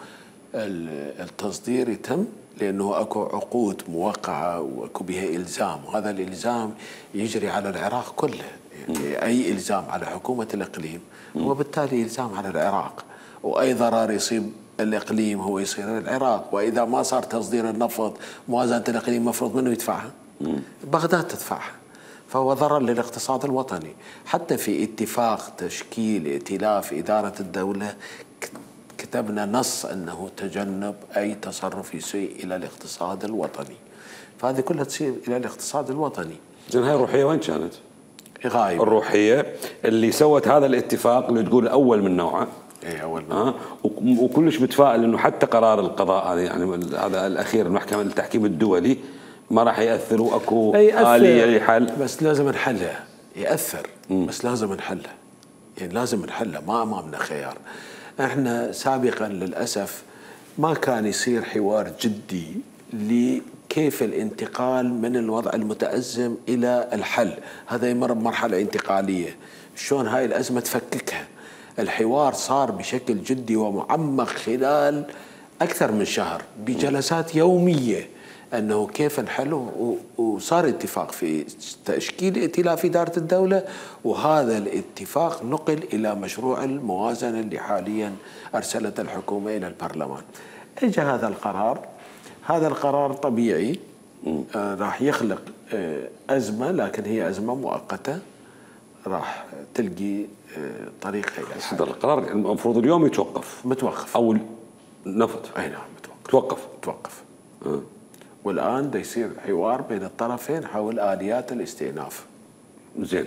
التصدير يتم لأنه أكو عقود موقعة وأكو بها إلزام، وهذا الإلزام يجري على العراق كله. يعني أي إلزام على حكومة الإقليم هو بالتالي إلزام على العراق، وأي ضرر يصيب الإقليم هو يصير العراق. وإذا ما صار تصدير النفط موازنة الإقليم مفروض منه يدفعها؟ بغداد تدفعها. فهو ضرر للاقتصاد الوطني. حتى في اتفاق تشكيل ائتلاف إدارة الدولة كتبنا نص أنه تجنب أي تصرف يسيء إلى الاقتصاد الوطني، فهذه كلها تصير إلى الاقتصاد الوطني. زين، هاي الروحية وين كانت؟ غايبة. الروحية اللي سوت هذا الاتفاق اللي تقول أول من نوعه. اي اول من آه وكلش متفائل انه حتى قرار القضاء هذا يعني هذا الاخير المحكمة التحكيم الدولي ما راح ياثر، واكو آلية لحل. بس لازم نحلها. ياثر مم. بس لازم نحلها، يعني لازم نحلها، ما امامنا خيار. احنا سابقا للاسف ما كان يصير حوار جدي لكيف الانتقال من الوضع المتأزم الى الحل. هذا يمر بمرحله انتقاليه، شلون هاي الازمه تفككها. الحوار صار بشكل جدي ومعمق خلال اكثر من شهر بجلسات يوميه انه كيف نحله، وصار اتفاق في تشكيل ائتلاف اداره الدوله، وهذا الاتفاق نقل الى مشروع الموازنه اللي حاليا ارسلته الحكومه الى البرلمان. اجى هذا القرار، هذا القرار طبيعي آه راح يخلق آه ازمه، لكن هي ازمه مؤقته راح تلقي آه طريقها الى الحل. هذا القرار المفروض اليوم يتوقف. متوقف او نفط. اي نعم متوقف. توقف. توقف. آه. والآن دا يصير حوار بين الطرفين حول آليات الاستئناف. زين،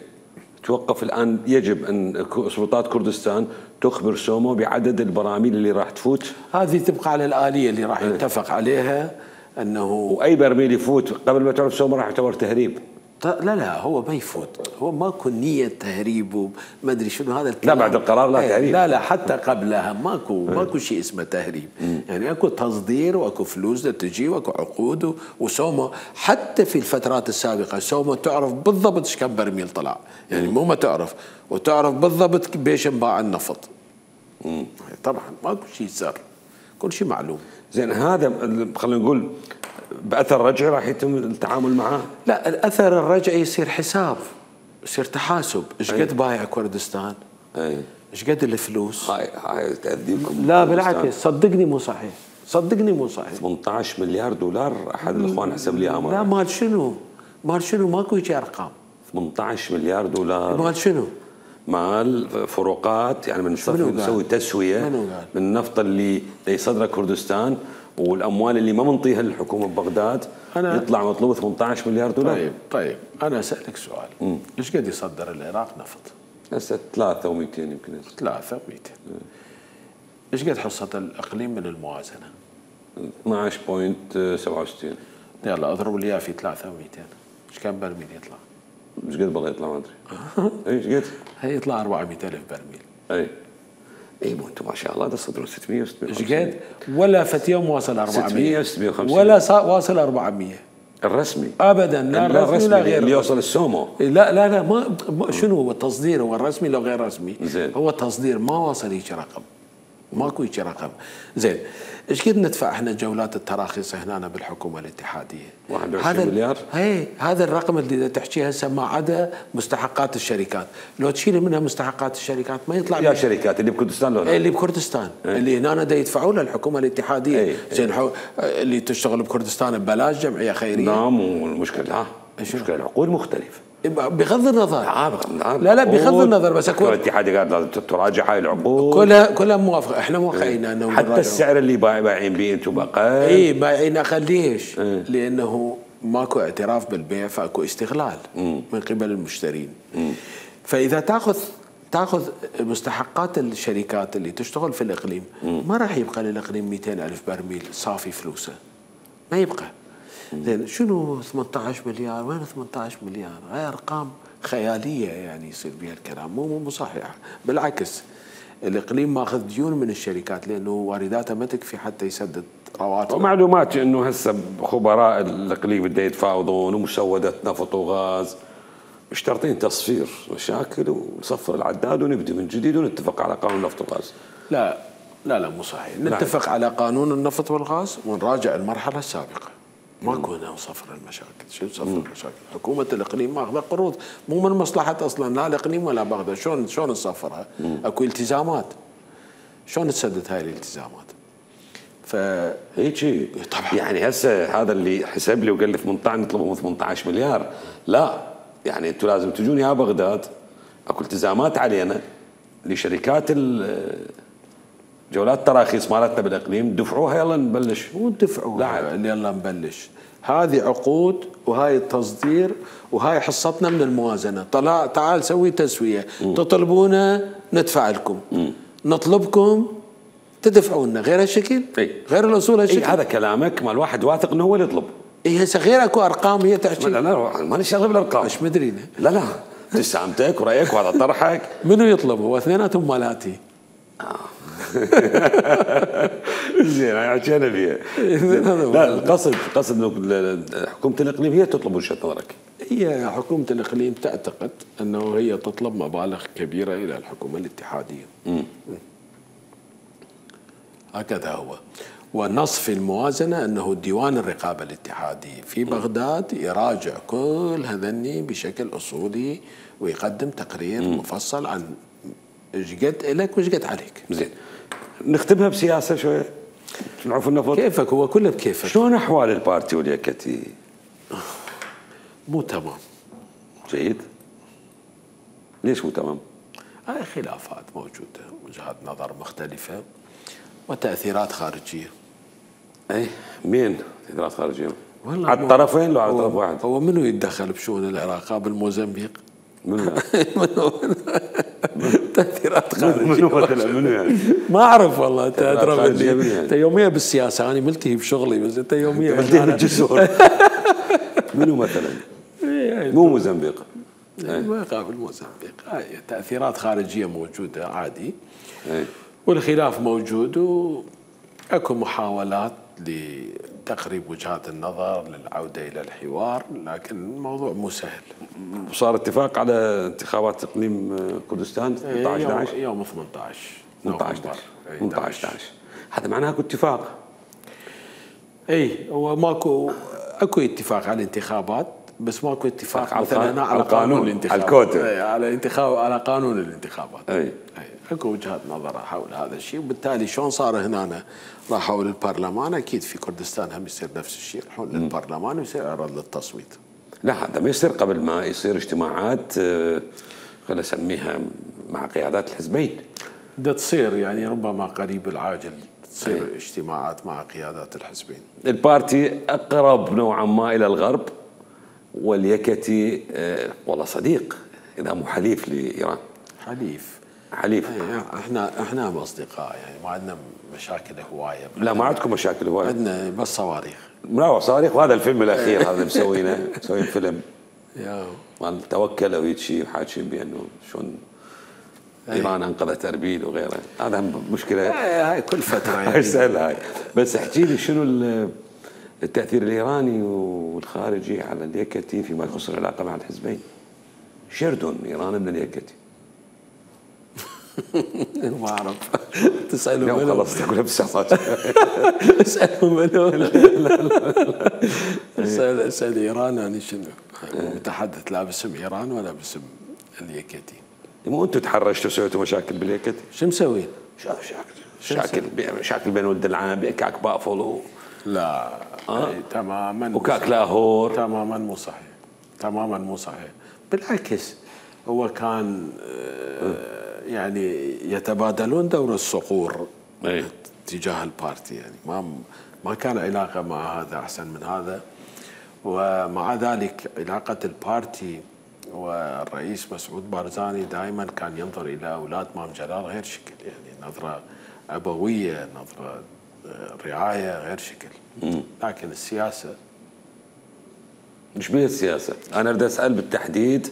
توقف الآن. يجب أن سلطات كردستان تخبر سومو بعدد البراميل اللي راح تفوت. هذه تبقى على الآلية اللي راح يتفق عليها، أنه وأي برميل يفوت قبل ما تعرف سومو راح يعتبر تهريب. لا لا هو ما يفوت، هو ماكو نية تهريب وما ادري شنو هذا الكلام. لا بعد القرار لا تهريب. لا لا حتى قبلها ماكو ماكو شيء اسمه تهريب. يعني اكو تصدير واكو فلوس تجي واكو عقود، وسومو حتى في الفترات السابقة سومو تعرف بالضبط ايش كم برميل طلع، يعني مو ما تعرف، وتعرف بالضبط بيش انباع النفط. طبعا ماكو شيء سر، كل شيء معلوم. زين، هذا خلينا نقول بأثر رجعي راح يتم التعامل معاه؟ لا، الأثر الرجعي يصير حساب، يصير تحاسب. ايش قد بايع كردستان؟ اي ايش قد الفلوس؟ هاي هاي تأذيكم. لا بالعكس، صدقني مو صحيح، صدقني مو صحيح. ثمانية عشر مليار دولار احد الاخوان حسب لي امر. لا مال شنو؟ مال شنو؟ ماكو هيك ارقام. ثمانية عشر مليار دولار مال شنو؟ مال فروقات، يعني من نسوي تسويه من النفط اللي يصدره كردستان والاموال اللي ما منطيها الحكومه ببغداد، يطلع مطلوب ثمانية عشر مليار دولار. طيب طيب انا اسالك سؤال، ليش قد يصدر العراق نفط؟ هسه ثلاثة ومئتين يمكن. ثلاثة ومئتين. ايش قد حصة الإقليم من الموازنة؟ اثنعش فاصلة سبعة وستين. يلا اضرب لي اياه في ثلاثة ومئتين. ايش كم برميل يطلع؟ ايش قد بالله يطلع ما ادري. ايش قد؟ هي يطلع أربعمئة ألف برميل. اي اي مو انتم ما شاء الله تصدرون ستمئة وستمئة ايش قد؟ ولا فت يوم واصل أربعمئة. ستمئة وستمئة وخمسين. ولا واصل أربعمئة. الرسمي ابدا لا الرسمي لا غير اللي يوصل السومو. لا لا لا ما شنو هو التصدير، هو الرسمي لو غير رسمي. زين. هو التصدير ما واصل هيك رقم، ماكو هيك رقم. زين ايش قد ندفع احنا جولات التراخيص هنا بالحكومه الاتحاديه؟ واحد وعشرين مليار. هي هذا الرقم اللي تحكيه هسه ما عدا مستحقات الشركات، لو تشيل منها مستحقات الشركات ما يطلع يا شركات اللي بكردستان لو اللي بكردستان ايه؟ اللي هنا دا يدفعوا لها الحكومه الاتحاديه. ايه؟ زين ايه؟ اللي تشتغل بكردستان ببلاش جمعيه خيريه. لا مو المشكله، لا المشكله العقود مختلفه بغض النظر. لا لا لا بغض النظر بس اكو الاتحاد قال لازم تراجع هاي العقود كلها كلها موافقه، احنا موافقين انه حتى السعر اللي بايعين به انتم اقل. اي بايعين اقل. ليش؟ ايه؟ لانه ماكو اعتراف بالبيع فاكو استغلال مم. من قبل المشترين. مم. فاذا تاخذ تاخذ مستحقات الشركات اللي تشتغل في الاقليم مم. ما راح يبقى للاقليم مئتين ألف برميل صافي فلوسه، ما يبقى. زين شنو ثمانية عشر مليار؟ وين ثمانية عشر مليار؟ هاي ارقام خياليه يعني يصير بها الكلام، مو مو صحيحه. بالعكس الاقليم ماخذ ديون من الشركات لانه وارداته ما تكفي حتى يسدد رواتب. ومعلومات انه هسه خبراء الاقليم بده يتفاوضون ومسوده نفط وغاز مشترطين تصفير مشاكل ونصفر العداد ونبدي من جديد ونتفق على قانون النفط والغاز. لا لا لا مو صحيح. نتفق على قانون النفط والغاز ونراجع المرحله السابقه. ماكو هنا صفر المشاكل. شو صفر المشاكل؟ حكومه الاقليم ماخذه قروض مو من مصلحه اصلا لا الاقليم ولا بغداد. شلون شلون نصفرها؟ اكو التزامات. شلون تسدد هاي الالتزامات؟ ف هيك طبعا يعني هسه هذا اللي حسب لي وقال لي ثمانية عشر نطلبهم ثمانية عشر مليار، لا يعني انتم لازم تجون يا بغداد اكو التزامات علينا لشركات جولات التراخيص مالتنا بالاقليم دفعوها يلا نبلش. مو دفعوها يلا نبلش، هذه عقود وهاي التصدير وهاي حصتنا من الموازنه. طلع تعال سوي تسويه. م. تطلبونا ندفع لكم. م. نطلبكم تدفعوا لنا غير هالشكل. اي غير الاصول هالشكل. اي هذا كلامك مال واحد واثق انه هو اللي يطلب. اي هسه غير اكو ارقام هي تحكي. لا لا ماني شغله بالارقام. مش مدري لا لا ابتسامتك ورايك وهذا طرحك. منو يطلب؟ هو اثنيناتهم مالاتي. زين هاي حكينا فيها. لا القصد قصد انه حكومه الاقليم هي تطلب وجهه نظرك. هي حكومه الاقليم تعتقد انه هي تطلب مبالغ كبيره الى الحكومه الاتحاديه. م. هكذا هو. ونص في الموازنه انه ديوان الرقابه الاتحادي في بغداد يراجع كل هذني بشكل اصولي ويقدم تقرير م. مفصل عن ايش قد لك وايش قد عليك. زين نختمها بسياسه شويه نعرف النفط. كيفك هو كله بكيفك. شلون احوال البارتي واليكتي؟ مو تمام. جيد. ليش مو تمام؟ هاي خلافات موجوده، وجهات نظر مختلفه وتاثيرات خارجيه. اي مين تاثيرات خارجيه؟ على الطرفين لو على طرف واحد؟ هو منو يتدخل بشؤون العراق بالموزمبيق؟ منو؟ تاثيرات خارجيه. منو مثلا منو يعني؟ ما اعرف والله. انت ادرى مني. انت يوميا بالسياسه، انا ملتهي بشغلي بس انت يوميا ملتهي بالجسور. منو مثلا؟ مو موزمبيق. ما يقابل موزمبيق. هاي تاثيرات خارجيه موجوده عادي. والخلاف موجود واكو محاولات لتقريب وجهات النظر للعوده الى الحوار، لكن الموضوع مو سهل. صار اتفاق على انتخابات اقليم كردستان ثمانية عشر احد عشر يوم ثمانية عشر ثمانية عشر ثمانية عشر احد عشر. هذا معناه اكو اتفاق. اي هو ماكو اكو اتفاق على الانتخابات بس ماكو اتفاق على مثلا على قانون الانتخابات. على الكوتا. على انتخاب على قانون الانتخابات. اي اي اكو وجهات نظر حول هذا الشيء، وبالتالي شلون صار هنا راحوا للبرلمان، اكيد في كردستان هم يصير نفس الشيء، يروحون للبرلمان ويصير عرض للتصويت. لا هذا ما يصير قبل ما يصير اجتماعات خلينا نسميها مع قيادات الحزبين. بدها تصير يعني ربما قريب العاجل تصير أي. اجتماعات مع قيادات الحزبين. البارتي اقرب نوعا ما الى الغرب، واليكتي والله صديق اذا مو حليف لايران. حليف حليف. يعني احنا احنا اصدقاء يعني ما عندنا مشاكل هوايه. لا ما عندكم مشاكل هوايه. عندنا بس صواريخ. لا صواريخ، وهذا الفيلم الاخير هذا مسوينه مسوين فيلم يا مال توكل وهيك شيء وحاكين بانه شلون ايران انقذت اربيل وغيره. هذا مشكله هاي كل فتره هاي سهله هاي. بس احكي لي شنو التاثير الايراني والخارجي على اليكتي فيما يخص العلاقه مع الحزبين؟ شيردون ايران من اليكتي. ما اعرف. تساله منو؟ منو؟ خلصت اقول بس اساله منو؟ اسال اسال ايران يعني شنو؟ متحدث لا باسم ايران ولا باسم اليكتي. مو انتم تحرشتوا سويتوا مشاكل باليكتي؟ شو مسوين؟ شاكل شاكل بين ولد العام بكاك بافلو. لا آه؟ تماما وكاك لاهور. تماما مو صحيح. تماما مو صحيح. بالعكس هو كان آه يعني يتبادلون دور الصقور أي. تجاه البارتي يعني ما ما كان علاقه مع هذا احسن من هذا. ومع ذلك علاقه البارتي والرئيس مسعود بارزاني دائما كان ينظر الى اولاد مام جلال غير شكل يعني نظره ابويه، نظره رعايه غير شكل. مم. لكن السياسه مش بيه السياسه، انا اريد اسال بالتحديد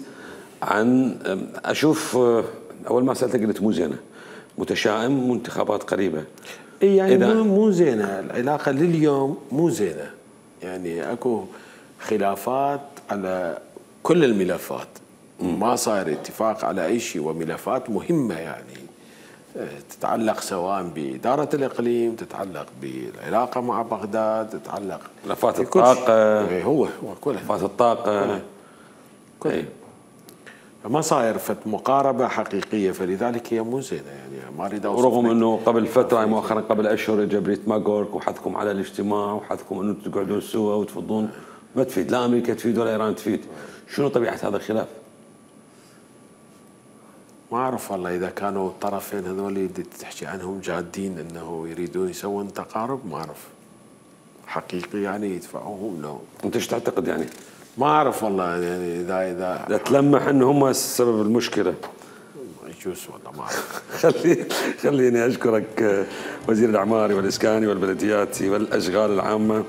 عن اشوف اول ما سالتك قلت مو زينه، متشائم وانتخابات قريبه. اي يعني مو مو زينه، العلاقه لليوم مو زينه، يعني اكو خلافات على كل الملفات. مم. ما صاير اتفاق على اي شيء، وملفات مهمه يعني تتعلق سواء بإدارة الإقليم، تتعلق بالعلاقة مع بغداد، تتعلق ملفات الطاقة. هو هو كله ملفات الطاقة كله, كله. فما صاير فت مقاربة حقيقية، فلذلك هي مو زينة يعني ما أريد أوصف. رغم أنه قبل فترة مؤخرا قبل أشهر جبريت ماغورك وحثكم على الاجتماع وحثكم أنه تقعدون سوا وتفضون، ما تفيد، لا أمريكا تفيد ولا إيران تفيد. شنو طبيعة هذا الخلاف؟ ما أعرف والله إذا كانوا الطرفين هذول اللي تحكي عنهم جادين أنه يريدون يسوون تقارب، ما أعرف حقيقي يعني يدفعوهم لهم. أنت ايش تعتقد يعني؟ ما أعرف والله يعني إذا إذا لا تلمح أن هم سبب المشكلة. يجوز والله ما أعرف. خلي خليني أشكرك وزير الإعماري والإسكاني والبلدياتي والأشغال العامة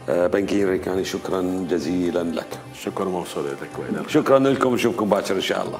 بنكير ريكاني، شكرا جزيلا لك. شكرا موصول لك وإلى شكرا لكم، نشوفكم باكر إن شاء الله.